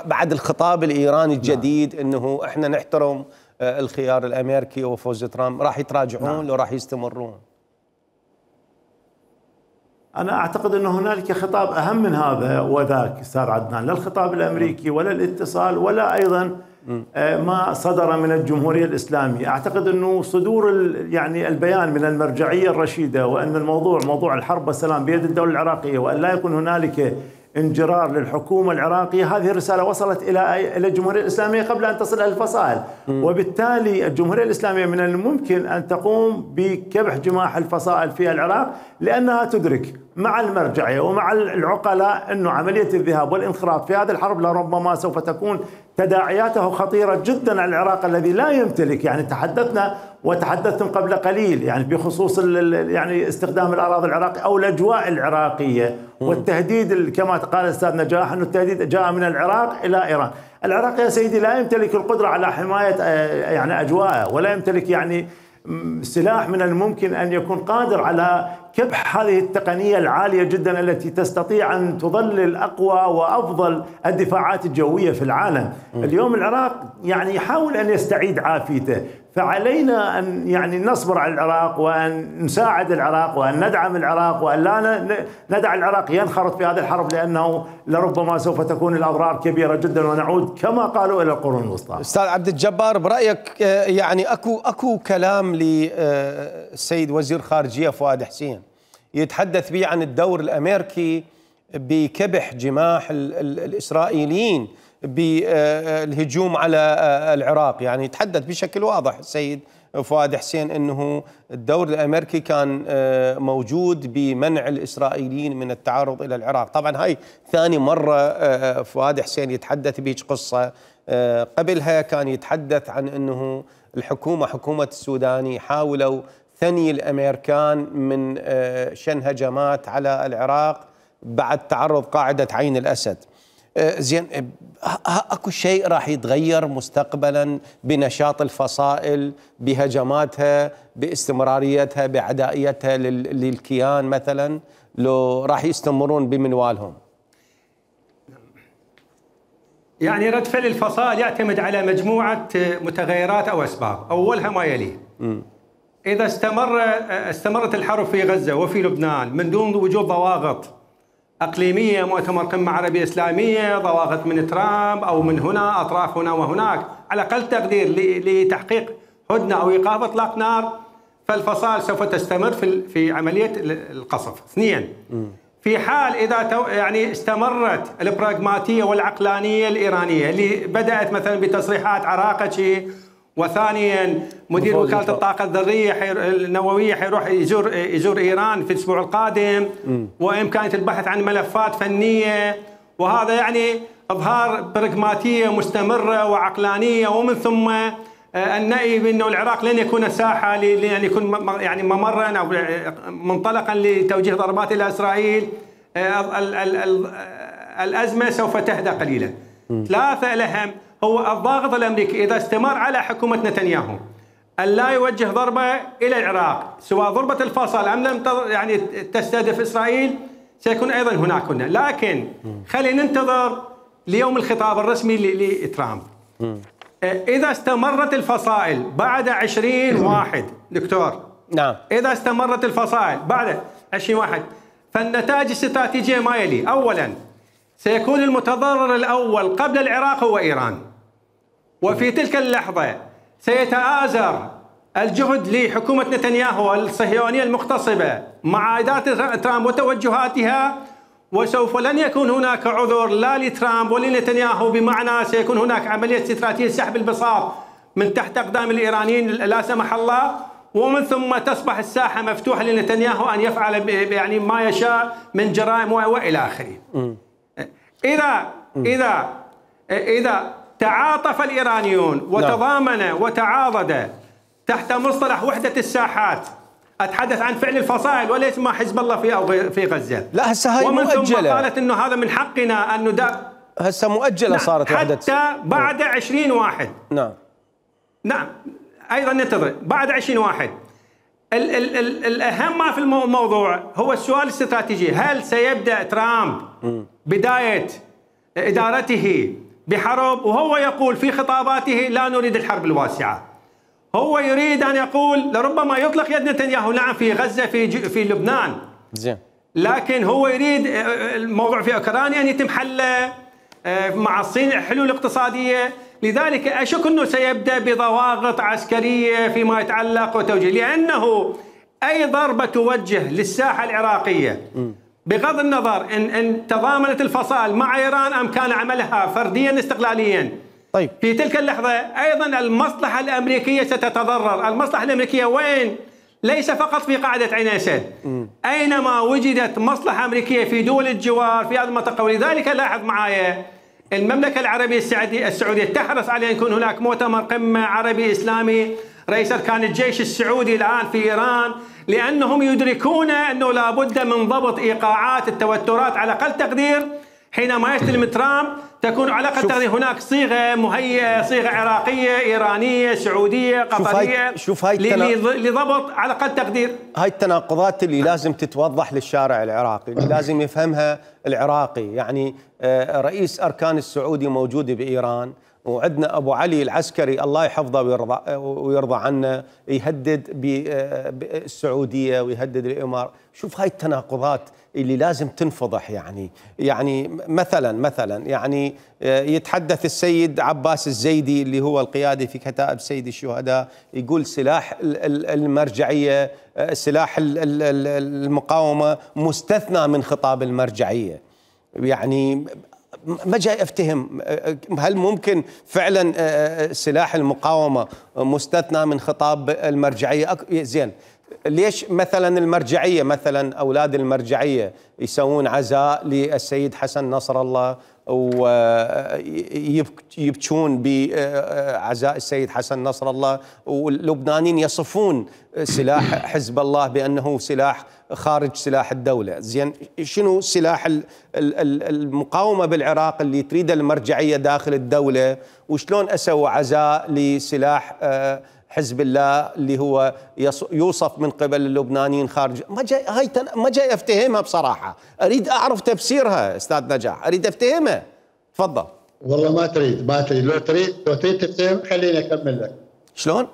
بعد الخطاب الإيراني الجديد أنه إحنا نحترم الخيار الأمريكي وفوز ترامب، راح يتراجعون لو راح يستمرون؟ أنا أعتقد أن هنالك خطاب أهم من هذا وذاك أستاذ عدنان، لا الخطاب الأمريكي ولا الاتصال ولا أيضا ما صدر من الجمهورية الإسلامية. أعتقد أنه صدور يعني البيان من المرجعية الرشيدة، وأن الموضوع موضوع الحرب والسلام بيد الدولة العراقية، وأن لا يكون هنالك انجرار للحكومة العراقية، هذه الرسالة وصلت إلى الجمهورية الإسلامية قبل أن تصل إلى الفصائل. وبالتالي الجمهورية الإسلامية من الممكن أن تقوم بكبح جماح الفصائل في العراق، لأنها تدرك مع المرجعية ومع العقلاء أنه عملية الذهاب والانخراط في هذه الحرب لربما سوف تكون تداعياته خطيرة جدا على العراق الذي لا يمتلك، يعني تحدثنا وتحدثتم قبل قليل يعني بخصوص يعني استخدام الأراضي العراقية أو الأجواء العراقية والتهديد، كما قال الأستاذ نجاح أنه التهديد جاء من العراق إلى إيران. العراق يا سيدي لا يمتلك القدرة على حماية يعني أجواءه، ولا يمتلك يعني سلاح من الممكن أن يكون قادر على كبح هذه التقنية العالية جدا التي تستطيع أن تظلل أقوى وأفضل الدفاعات الجوية في العالم. اليوم العراق يعني يحاول أن يستعيد عافيته، فعلينا أن يعني نصبر على العراق، وأن نساعد العراق، وأن ندعم العراق، وأن لا ندع العراق ينخرط في هذه الحرب، لأنه لربما سوف تكون الأضرار كبيرة جدا ونعود كما قالوا إلى القرون الوسطى. أستاذ عبد الجبار، برأيك يعني أكو كلام للسيد وزير خارجية فؤاد حسين يتحدث به عن الدور الأمريكي بكبح جماح الإسرائيليين بالهجوم على العراق، يعني يتحدث بشكل واضح السيد فؤاد حسين أنه الدور الأمريكي كان موجود بمنع الإسرائيليين من التعرض إلى العراق. طبعا هاي ثاني مرة فؤاد حسين يتحدث بهيج قصة، قبلها كان يتحدث عن أنه حكومة السوداني حاولوا ثني الأمريكان من شن هجمات على العراق بعد تعرض قاعدة عين الأسد. زين، اكو شيء راح يتغير مستقبلا بنشاط الفصائل، بهجماتها، باستمراريتها، بعدائيتها للكيان مثلا، لو راح يستمرون بمنوالهم؟ يعني رد فعل الفصائل يعتمد على مجموعة متغيرات أو أسباب، أولها ما يلي. إذا استمرت الحرب في غزة وفي لبنان من دون وجود ضواغط أقليمية، مؤتمر قمة عربية إسلامية، ضواغط من ترامب أو من هنا، أطراف هنا وهناك، على أقل تقدير لتحقيق هدنة أو إيقاف إطلاق نار، فالفصائل سوف تستمر في عملية القصف. اثنين، في حال إذا يعني استمرت البراغماتية والعقلانية الإيرانية اللي بدأت مثلا بتصريحات عراقتي، وثانيا مدير وكالة الطاقة الذرية النووية حيروح يزور إيران في الأسبوع القادم، وإمكانية البحث عن ملفات فنية، وهذا يعني إظهار براغماتية مستمرة وعقلانية، ومن ثم النأي بأنه العراق لن يكون ساحة لأن يكون يعني ممرا أو منطلقا لتوجيه ضربات إلى إسرائيل. الأزمة سوف تهدأ قليلا. ثلاثة، الأهم هو الضاغط الأمريكي إذا استمر على حكومة نتنياهو أن لا يوجه ضربة إلى العراق، سواء ضربة الفصل أم لم يعني تستهدف إسرائيل، سيكون أيضا هناك لكن خلينا ننتظر ليوم الخطاب الرسمي لترامب. إذا استمرت الفصائل بعد 20/1 دكتور، نعم، إذا استمرت الفصائل بعد 20/1 فالنتائج الاستراتيجية ما يلي. أولا، سيكون المتضرر الأول قبل العراق هو إيران، وفي تلك اللحظة سيتآزر الجهد لحكومة نتنياهو الصهيونية المغتصبة مع إدارة ترامب وتوجهاتها، وسوف لن يكون هناك عذر لا لترامب ولا لنتنياهو، بمعنى سيكون هناك عملية استراتيجية سحب البساط من تحت أقدام الإيرانيين لا سمح الله، ومن ثم تصبح الساحة مفتوحة لنتنياهو أن يفعل يعني ما يشاء من جرائم وإلى آخره. إذا تعاطف الإيرانيون وتضامن وتعاضد تحت مصطلح وحدة الساحات، أتحدث عن فعل الفصائل وليس ما حزب الله في غزة. لا هسه هاي ومن مؤجلة. ثم قالت إنه هذا من حقنا أن هسه مؤجلة. نعم. صارت وحدة حتى بعد 20 واحد. نعم أيضا ننتظر بعد 20 واحد. الأهم ما في الموضوع هو السؤال الاستراتيجي، هل سيبدأ ترامب بداية إدارته بحرب؟ وهو يقول في خطاباته لا نريد الحرب الواسعة، هو يريد أن يقول لربما يطلق يد نتنياهو نعم في غزة في لبنان، لكن هو يريد الموضوع في أوكرانيا أن يتم حله مع الصين، حلول اقتصادية. لذلك أشك أنه سيبدأ بضواغط عسكرية فيما يتعلق وتوجيه، لأنه أي ضربة توجه للساحة العراقية بغض النظر إن تضامنت الفصائل مع إيران أم كان عملها فرديا استقلاليا، طيب في تلك اللحظة أيضا المصلحة الأمريكية ستتضرر. المصلحة الأمريكية وين؟ ليس فقط في قاعدة عين أسد، أينما وجدت مصلحة أمريكية في دول الجوار في هذه المنطقة. ولذلك لاحظ معايا المملكة العربية السعودية تحرص على أن يكون هناك مؤتمر قمة عربي إسلامي رئيس أركان الجيش السعودي الآن في إيران، لأنهم يدركون أنه لا بد من ضبط إيقاعات التوترات. على أقل تقدير حينما يستلم ترامب تكون على أقل تقدير هناك صيغة مهيئة، صيغة عراقية إيرانية سعودية قطرية لضبط على أقل تقدير. هاي التناقضات اللي لازم تتوضح للشارع العراقي، اللي لازم يفهمها العراقي. يعني رئيس أركان السعودي موجود بإيران، وعندنا أبو علي العسكري الله يحفظه ويرضى عنه يهدد بالسعودية ويهدد الإمارات. شوف هاي التناقضات اللي لازم تنفضح. يعني مثلا يعني يتحدث السيد عباس الزيدي اللي هو القيادي في كتائب سيد الشهداء، يقول سلاح المرجعية، سلاح المقاومة مستثنى من خطاب المرجعية. يعني ما جاي افتهم، هل ممكن فعلا سلاح المقاومة مستثنى من خطاب المرجعية؟ زين ليش مثلا المرجعية، مثلا أولاد المرجعية يسوون عزاء للسيد حسن نصر الله ويبكون بعزاء السيد حسن نصر الله، واللبنانيين يصفون سلاح حزب الله بأنه سلاح خارج سلاح الدولة؟ زين شنو سلاح المقاومة بالعراق اللي تريد المرجعية داخل الدولة؟ وشلون أسووا عزاء لسلاح حزب الله اللي هو يوصف من قبل اللبنانيين خارج؟ ما جاي افتهمها بصراحة، اريد اعرف تفسيرها استاذ نجاح، اريد افتهمها. تفضل. والله ما تريد لو تريد تفتهم خليني اكمل لك. شلون؟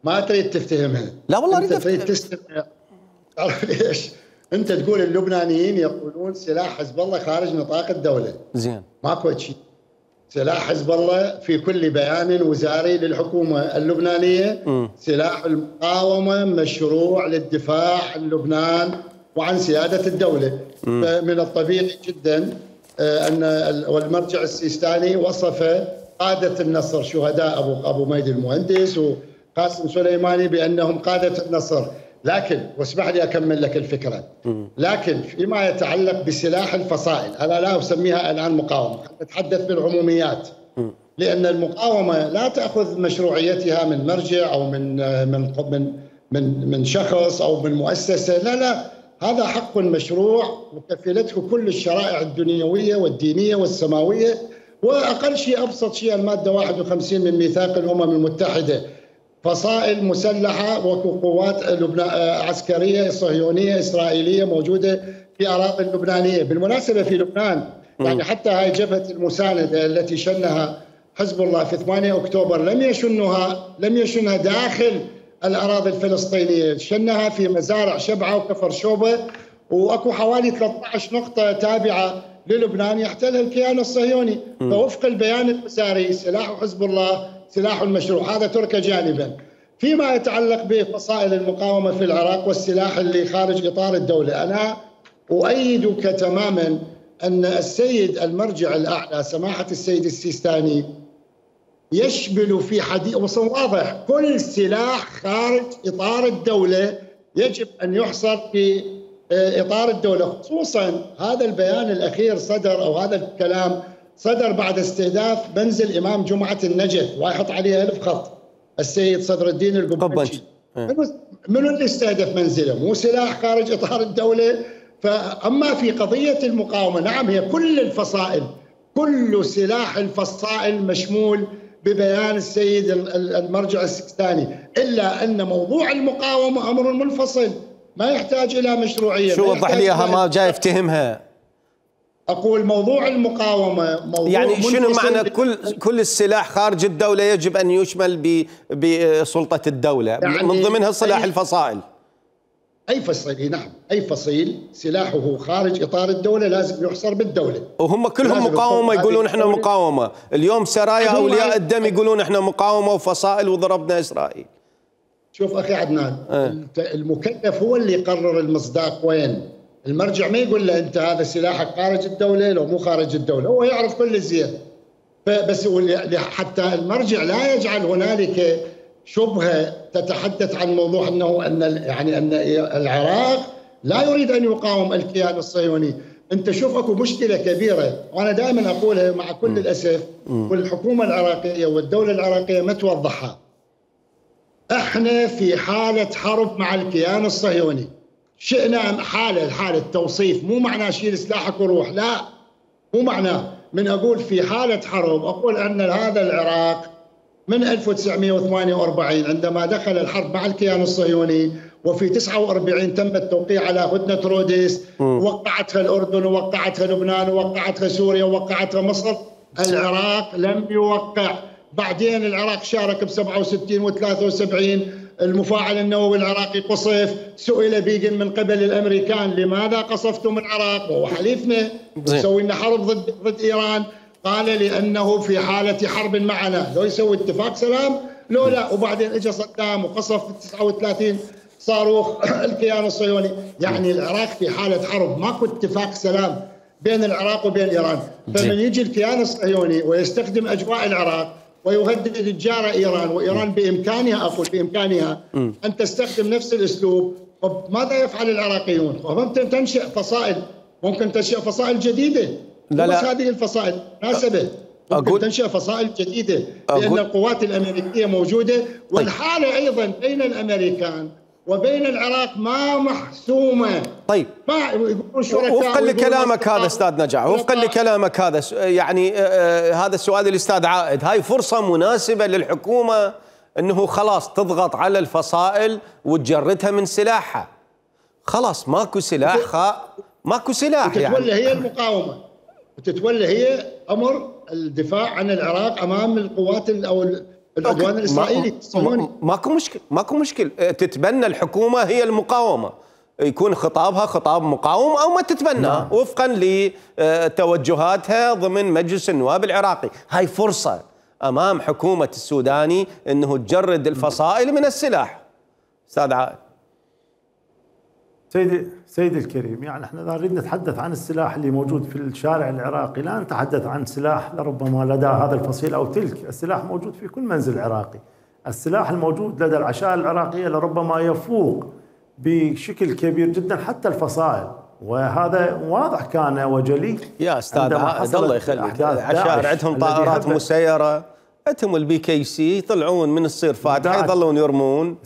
ما تريد تفتهمها. لا والله اريد تريد تستمع. تعرف ليش؟ انت تقول اللبنانيين يقولون سلاح حزب الله خارج نطاق الدولة. زين ماكو شيء. سلاح حزب الله في كل بيان وزاري للحكومة اللبنانية سلاح المقاومة مشروع للدفاع عن لبنان وعن سيادة الدولة. فمن الطبيعي جدا أن والمرجع السيستاني وصف قادة النصر شهداء أبو ميدي المهندس وقاسم سليماني بأنهم قادة النصر. لكن واسمح لي أكمل لك الفكرة. لكن فيما يتعلق بسلاح الفصائل أنا لا أسميها الآن مقاومة، نتحدث بالعموميات، لأن المقاومة لا تأخذ مشروعيتها من مرجع أو من شخص أو من مؤسسة، لا هذا حق مشروع وكفلته كل الشرائع الدنيوية والدينية والسماوية، وأقل شيء أبسط شيء المادة 51 من ميثاق الأمم المتحدة، فصائل مسلحة وقوات عسكرية صهيونية إسرائيلية موجودة في أراضي اللبنانية. بالمناسبة في لبنان يعني حتى هاي جبهة المساندة التي شنها حزب الله في 8 أكتوبر لم يشنها داخل الأراضي الفلسطينية، شنها في مزارع شبعة وكفر شوبة، وأكو حوالي 13 نقطة تابعة للبنان يحتلها الكيان الصهيوني. فوفق البيان الوزاري سلاح حزب الله سلاح المشروع، هذا ترك جانبا. فيما يتعلق بفصائل المقاومة في العراق والسلاح اللي خارج إطار الدولة، أنا أؤيدك تماما أن السيد المرجع الأعلى سماحة السيد السيستاني يشمل في حديث واضح كل سلاح خارج إطار الدولة يجب أن يحصر في إطار الدولة. خصوصا هذا البيان الأخير صدر، أو هذا الكلام صدر بعد استهداف منزل إمام جمعة النجف، ويحط عليه 1000 خط السيد صدر الدين القبنشي. منو اللي استهدف منزله؟ مو سلاح خارج إطار الدولة. فأما في قضية المقاومة، نعم هي كل الفصائل، كل سلاح الفصائل مشمول ببيان السيد المرجع السكستاني، إلا أن موضوع المقاومة أمر منفصل ما يحتاج إلى مشروعية. شو وضح لي اياها، ما جاي افتهمها. أقول موضوع المقاومة موضوع يعني شنو معنى كل السلاح خارج الدولة يجب أن يشمل بسلطة الدولة، يعني من ضمنها سلاح الفصائل؟ أي فصيل، نعم أي فصيل سلاحه خارج إطار الدولة لازم يحصر بالدولة. وهم كلهم مقاومة، يقولون إحنا مقاومة. اليوم سرايا أولياء الدم يقولون إحنا مقاومة وفصائل وضربنا إسرائيل. شوف أخي عدنان، المكلف هو اللي يقرر المصداق وين. المرجع ما يقول له أنت هذا سلاحك خارج الدولة لو مو خارج الدولة، هو يعرف كل الزين. بس حتى المرجع لا يجعل هنالك شبهة تتحدث عن موضوع أن العراق لا يريد أن يقاوم الكيان الصهيوني. أنت شوف أكو مشكلة كبيرة، وأنا دائما أقولها مع كل الأسف، والحكومة العراقية والدولة العراقية ما توضحها. احنا في حالة حرب مع الكيان الصهيوني. شئنا حالة توصيف، مو معناه شيل سلاحك وروح، لا مو معناه. من أقول في حالة حرب أقول أن هذا العراق من 1948 عندما دخل الحرب مع الكيان الصهيوني، وفي 49 تم التوقيع على هدنة روديس، وقعتها الأردن ووقعتها لبنان ووقعتها سوريا ووقعتها مصر. العراق لم يوقع. بعدين العراق شارك ب 67 و73. المفاعل النووي العراقي قصف. سئل بيغن من قبل الأمريكان لماذا قصفتم العراق وهو حليفنا يسوي لنا حرب ضد إيران؟ قال لأنه في حالة حرب معنا. لو يسوي اتفاق سلام لو لا. وبعدين اجى صدام وقصف 39 صاروخ الكيان الصهيوني. يعني العراق في حالة حرب، ماكو اتفاق سلام بين العراق وبين إيران. فمن يجي الكيان الصهيوني ويستخدم أجواء العراق ويهدد الجارة إيران، وإيران بإمكانها، أقول بإمكانها أن تستخدم نفس الأسلوب، ماذا يفعل العراقيون؟ ممكن تنشئ فصائل، ممكن تنشئ فصائل جديدة. لا بس هذه الفصائل مناسبة، ممكن تنشئ فصائل جديدة، لأن القوات الأمريكية موجودة. والحالة أيضا بين الأمريكان وبين العراق ما محسومة. طيب، وفقا لكلامك هذا استاذ نجاح، وفقا لكلامك هذا، يعني هذا السؤال الاستاذ عائد، هاي فرصة مناسبة للحكومة انه خلاص تضغط على الفصائل وتجردها من سلاحها. خلاص ماكو سلاح، ماكو سلاح يعني. تتولى هي المقاومة، وتتولى هي امر الدفاع عن العراق امام القوات او العدوان الاسرائيلي. ماكو مشكل تتبنى الحكومة هي المقاومة، يكون خطابها خطاب مقاوم او ما تتبناه وفقا لتوجهاتها ضمن مجلس النواب العراقي. هاي فرصة امام حكومة السوداني انه تجرد الفصائل من السلاح. استاذ عائد. سيدي الكريم، يعني احنا اذا نريد نتحدث عن السلاح اللي موجود في الشارع العراقي، لا نتحدث عن سلاح لربما لدى هذا الفصيل او تلك. السلاح موجود في كل منزل عراقي. السلاح الموجود لدى العشائر العراقية لربما يفوق بشكل كبير جدا حتى الفصائل، وهذا واضح كان وجلي. يا استاذ عائد الله يخليك، العشائر عندهم طائرات مسيرة، عندهم البي كي سي، يطلعون من الصير فاتحة يظلون يرمون،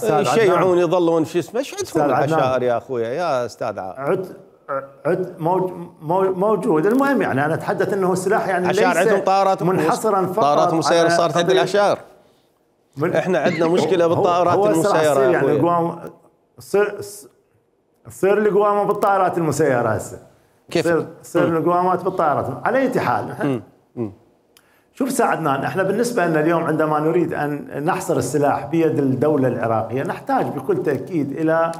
يشيعون يظلون شو اسمه، ايش عندهم العشائر يا اخويا يا استاذ عائد؟ موجود. المهم يعني انا اتحدث انه السلاح يعني ليس عندهم طائرات منحصرا فقط. طائرات مسيرة صارت عند العشائر. احنا عندنا مشكلة بالطائرات المسيرة يا يعني تصير القوامة بالطائرات المسيرة هسه. كيف؟ تصير القوامات بالطائرات. على اي حال شوف ساعدنا، احنا بالنسبة لنا اليوم عندما نريد ان نحصر السلاح بيد الدولة العراقية نحتاج بكل تأكيد الى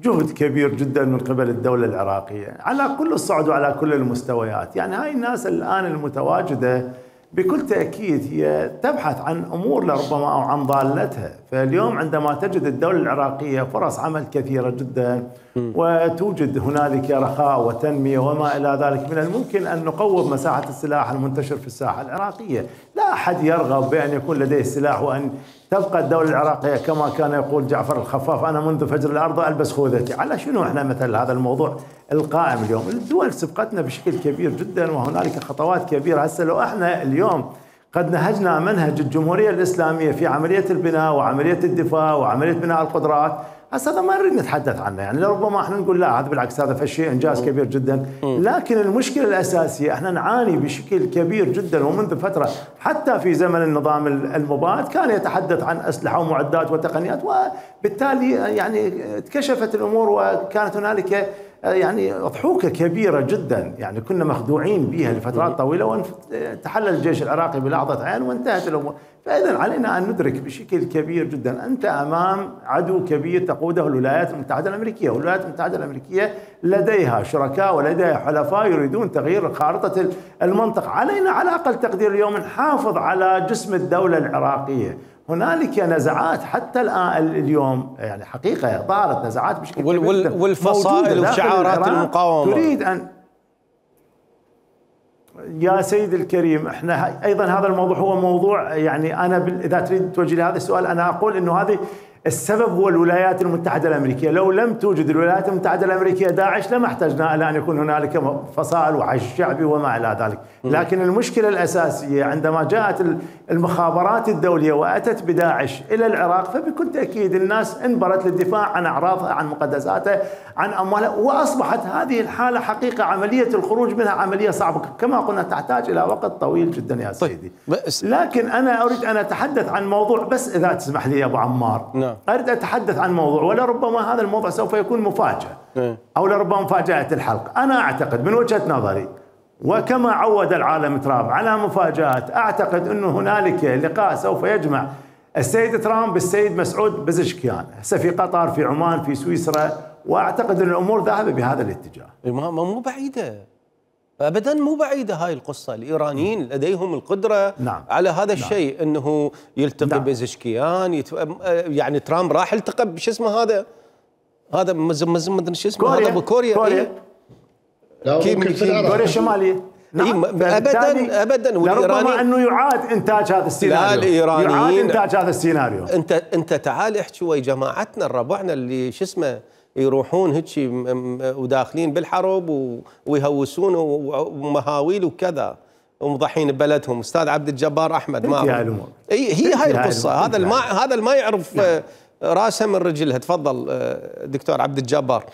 جهد كبير جدا من قبل الدولة العراقية على كل الصعد وعلى كل المستويات. يعني هاي الناس الآن المتواجدة بكل تأكيد هي تبحث عن أمور لربما أو عن ضالتها. فاليوم عندما تجد الدولة العراقية فرص عمل كثيرة جدا وتوجد هنالك رخاء وتنمية وما إلى ذلك، من الممكن أن نقوض مساحة السلاح المنتشر في الساحة العراقية. لا أحد يرغب بأن يكون لديه سلاح وأن تبقى الدولة العراقية كما كان يقول جعفر الخفاف: أنا منذ فجر الأرض ألبس خوذتي. على شنو احنا مثل هذا الموضوع القائم اليوم؟ الدول سبقتنا بشكل كبير جدا وهنالك خطوات كبيرة. هسه لو احنا اليوم قد نهجنا منهج الجمهورية الإسلامية في عملية البناء وعملية الدفاع وعملية بناء القدرات، هسه هذا ما نريد نتحدث عنه، يعني لربما احنا نقول لا هذا بالعكس هذا فشيء انجاز كبير جدا، لكن المشكلة الأساسية احنا نعاني بشكل كبير جدا ومنذ فترة، حتى في زمن النظام المباد كان يتحدث عن أسلحة ومعدات وتقنيات، وبالتالي يعني اتكشفت الأمور وكانت هنالك يعني ضحوكة كبيرة جدا، يعني كنا مخدوعين بها لفترات طويلة وتحلل الجيش العراقي بلحظة عين وانتهت الأمور. فإذا علينا أن ندرك بشكل كبير جدا أنت أمام عدو كبير تقوده الولايات المتحدة الأمريكية، والولايات المتحدة الأمريكية لديها شركاء ولديها حلفاء يريدون تغيير خارطة المنطقة. علينا على أقل تقدير اليوم نحافظ على جسم الدولة العراقية. هنالك نزعات حتى الآن اليوم، يعني حقيقة ظهرت نزعات بشكل كبير والفصائل وشعارات المقاومة تريد أن يا سيد الكريم. احنا ايضا هذا الموضوع هو موضوع، يعني انا اذا تريد توجه لي هذا السؤال انا اقول انه هذه السبب هو الولايات المتحدة الأمريكية. لو لم توجد الولايات المتحدة الأمريكية داعش لما احتجنا إلى أن يكون هنالك فصائل وحشد شعبي وما إلى ذلك. لكن المشكلة الأساسية عندما جاءت المخابرات الدولية وأتت بداعش إلى العراق، فبكل تأكيد الناس انبرت للدفاع عن أعراضها، عن مقدساتها، عن أموالها، وأصبحت هذه الحالة حقيقة عملية الخروج منها عملية صعبة كما قلنا تحتاج إلى وقت طويل جدا يا سيدي. لكن أنا أريد أن أتحدث عن موضوع، بس إذا تسمح لي يا أبو عمار، أريد أتحدث عن موضوع ولربما هذا الموضوع سوف يكون مفاجأة أو لربما مفاجأة الحلقة. أنا أعتقد من وجهة نظري وكما عود العالم ترامب على مفاجآت، أعتقد أنه هنالك لقاء سوف يجمع السيد ترامب بالسيد مسعود بزشكيان هسه في قطر، في عمان، في سويسرا، وأعتقد أن الأمور ذاهبة بهذا الاتجاه. مو بعيدة ابدا، مو بعيده هاي القصه. الايرانيين لديهم القدره على هذا الشيء، انه يلتقي بزشكيان، يعني ترامب راح التقى بشو اسمه هذا مدري شو اسمه هذا بكوريا. كوريا الشماليه. ابدا وربما انه يعاد انتاج هذا السيناريو. يعاد انتاج هذا السيناريو. انت تعال احكي ويا جماعتنا ربعنا اللي شو اسمه يروحون هيك وداخلين بالحرب ويهوسون ومهاويل وكذا ومضحين ببلدهم. استاذ عبد الجبار احمد، ما هي هاي القصه. هذا اللي ما يعرف راسه من رجلها. تفضل دكتور عبد الجبار.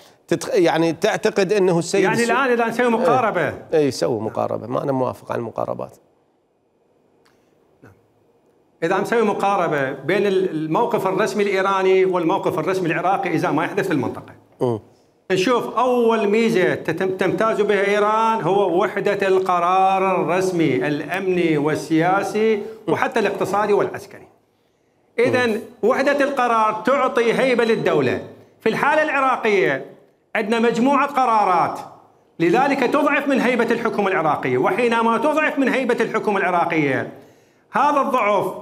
يعني تعتقد انه السيد يعني الان اذا نسوي مقاربه سوي مقاربه، ما انا موافق على المقاربات. إذا نسوي مقاربة بين الموقف الرسمي الإيراني والموقف الرسمي العراقي إذا ما يحدث في المنطقة، نشوف أول ميزة تمتاز بها إيران هو وحدة القرار الرسمي الأمني والسياسي وحتى الاقتصادي والعسكري. إذن وحدة القرار تعطي هيبة للدولة. في الحالة العراقية عندنا مجموعة قرارات، لذلك تضعف من هيبة الحكومة العراقية، وحينما تضعف من هيبة الحكومة العراقية هذا الضعف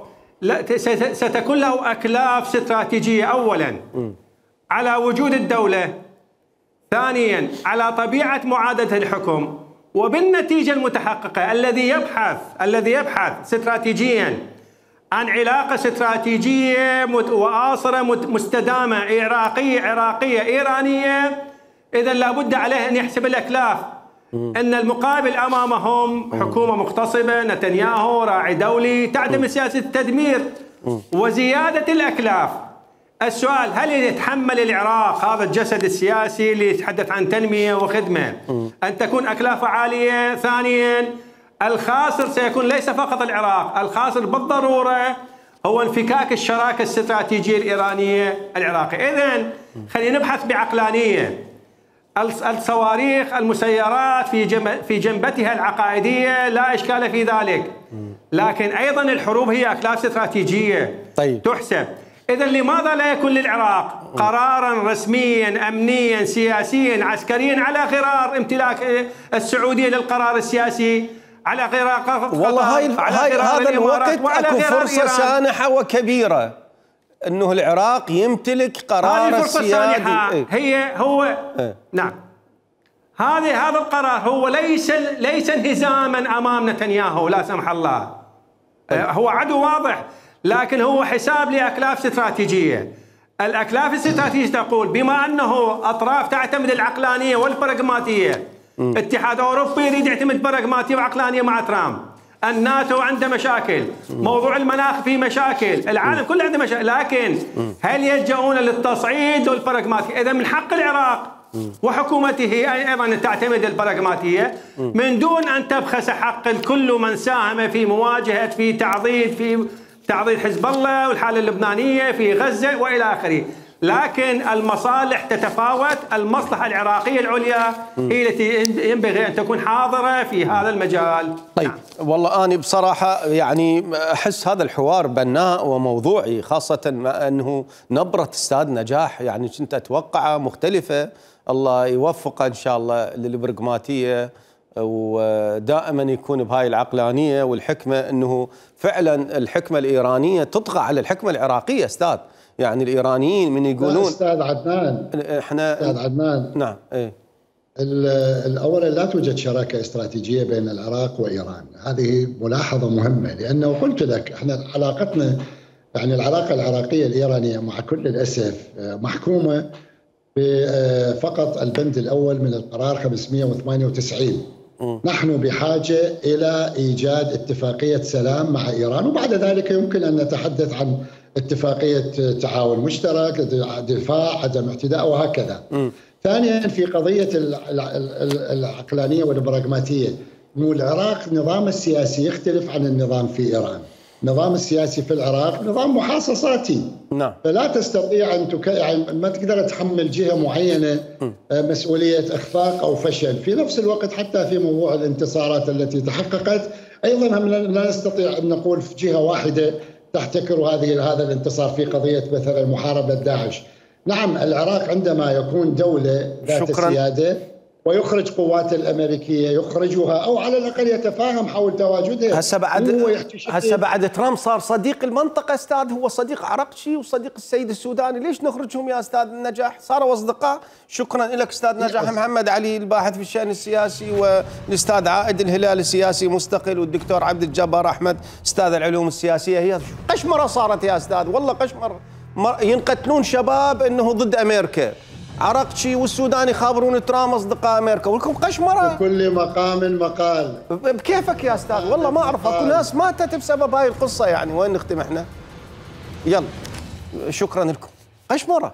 ستكون له أكلاف استراتيجية، أولا على وجود الدولة، ثانيا على طبيعة معادلة الحكم، وبالنتيجة المتحققة الذي يبحث استراتيجيا عن علاقة استراتيجية وآصرة مستدامة عراقية إيرانية، إذا لابد عليه أن يحسب الأكلاف. أن المقابل أمامهم حكومة مغتصبة، نتنياهو راعي دولي، تعتمد سياسة التدمير وزيادة الأكلاف. السؤال: هل يتحمل العراق هذا الجسد السياسي اللي يتحدث عن تنمية وخدمة أن تكون أكلافه عالية؟ ثانيا، الخاسر سيكون ليس فقط العراق، الخاسر بالضرورة هو انفكاك الشراكة الاستراتيجية الإيرانية العراقية. إذن خلينا نبحث بعقلانية. الصواريخ المسيرات في جنبتها العقائدية لا إشكال في ذلك، لكن أيضا الحروب هي أكلاف استراتيجية تحسب. إذن لماذا لا يكون للعراق قرارا رسميا أمنيا سياسيا عسكريا على غرار امتلاك السعودية للقرار السياسي، على غرار والله هذا الوقت اكو فرصة سانحة وكبيرة انه العراق يمتلك قرار السيادي. نعم، هذا القرار هو ليس انهزاما امام نتنياهو لا سمح الله. هو عدو واضح، لكن هو حساب لاكلاف استراتيجيه. الاكلاف الاستراتيجيه تقول بما انه اطراف تعتمد العقلانيه والبراغماتيه، اتحاد اوروبي يريد يعتمد براغماتيه وعقلانيه مع ترامب، الناتو عنده مشاكل، موضوع المناخ فيه مشاكل، العالم كله عنده مشاكل، لكن هل يلجؤون للتصعيد والبراغماتيه؟ اذا من حق العراق وحكومته ايضا ان تعتمد البراغماتيه من دون ان تبخس حق كل من ساهم في مواجهه في تعضيد حزب الله والحاله اللبنانيه في غزه والى اخره. لكن المصالح تتفاوت، المصلحة العراقية العليا هي التي ينبغي أن تكون حاضرة في هذا المجال. طيب والله أنا بصراحة يعني أحس هذا الحوار بناء وموضوعي، خاصة ما أنه نبرة أستاذ نجاح يعني كنت أتوقعها مختلفة. الله يوفقه إن شاء الله للبراغماتية، ودائما يكون بهاي العقلانية والحكمة، أنه فعلا الحكمة الإيرانية تطغى على الحكمة العراقية أستاذ. يعني الإيرانيين من يقولون أستاذ عدنان، أستاذ عدنان، نعم إيه، الأول لا توجد شراكة استراتيجية بين العراق وإيران، هذه ملاحظة مهمة، لأنه قلت لك احنا علاقتنا يعني العلاقة العراقية الإيرانية مع كل الأسف محكومة بفقط البند الأول من القرار 598. نحن بحاجة إلى إيجاد اتفاقية سلام مع إيران، وبعد ذلك يمكن أن نتحدث عن اتفاقية تعاون مشترك، دفاع، عدم اعتداء وهكذا. ثانيا في قضية العقلانية والبراغماتية، أنه العراق نظام السياسي يختلف عن النظام في إيران. النظام السياسي في العراق نظام محاصصاتي، نعم، فلا تستطيع أن يعني ما تقدر تحمل جهة معينة مسؤولية إخفاق أو فشل. في نفس الوقت حتى في موضوع الانتصارات التي تحققت أيضا لا نستطيع أن نقول في جهة واحدة تحتكر هذا الانتصار في قضية مثلا محاربة داعش. نعم، العراق عندما يكون دولة ذات سيادة ويخرج قوات الأمريكية يخرجها أو على الأقل يتفاهم حول تواجدها. هسه بعد ترامب صار صديق المنطقة أستاذ، هو صديق عرقشي وصديق السيد السوداني، ليش نخرجهم يا أستاذ نجاح؟ صاروا أصدقاء. شكرا لك أستاذ نجاح محمد علي الباحث في الشأن السياسي، والأستاذ عائد الهلالي سياسي مستقل، والدكتور عبد الجبار أحمد أستاذ العلوم السياسية. هي قشمرة صارت يا أستاذ، والله قشمرة، ينقتلون شباب أنه ضد أمريكا، عرقشي والسوداني خابرون ترامب اصدقاء امريكا، ولكم قشمره. بكل مقام مقال. بكيفك يا استاذ، والله ما اعرف، اكو ناس ماتت بسبب هاي القصه، يعني وين نختم احنا؟ يلا شكرا لكم. قشمره.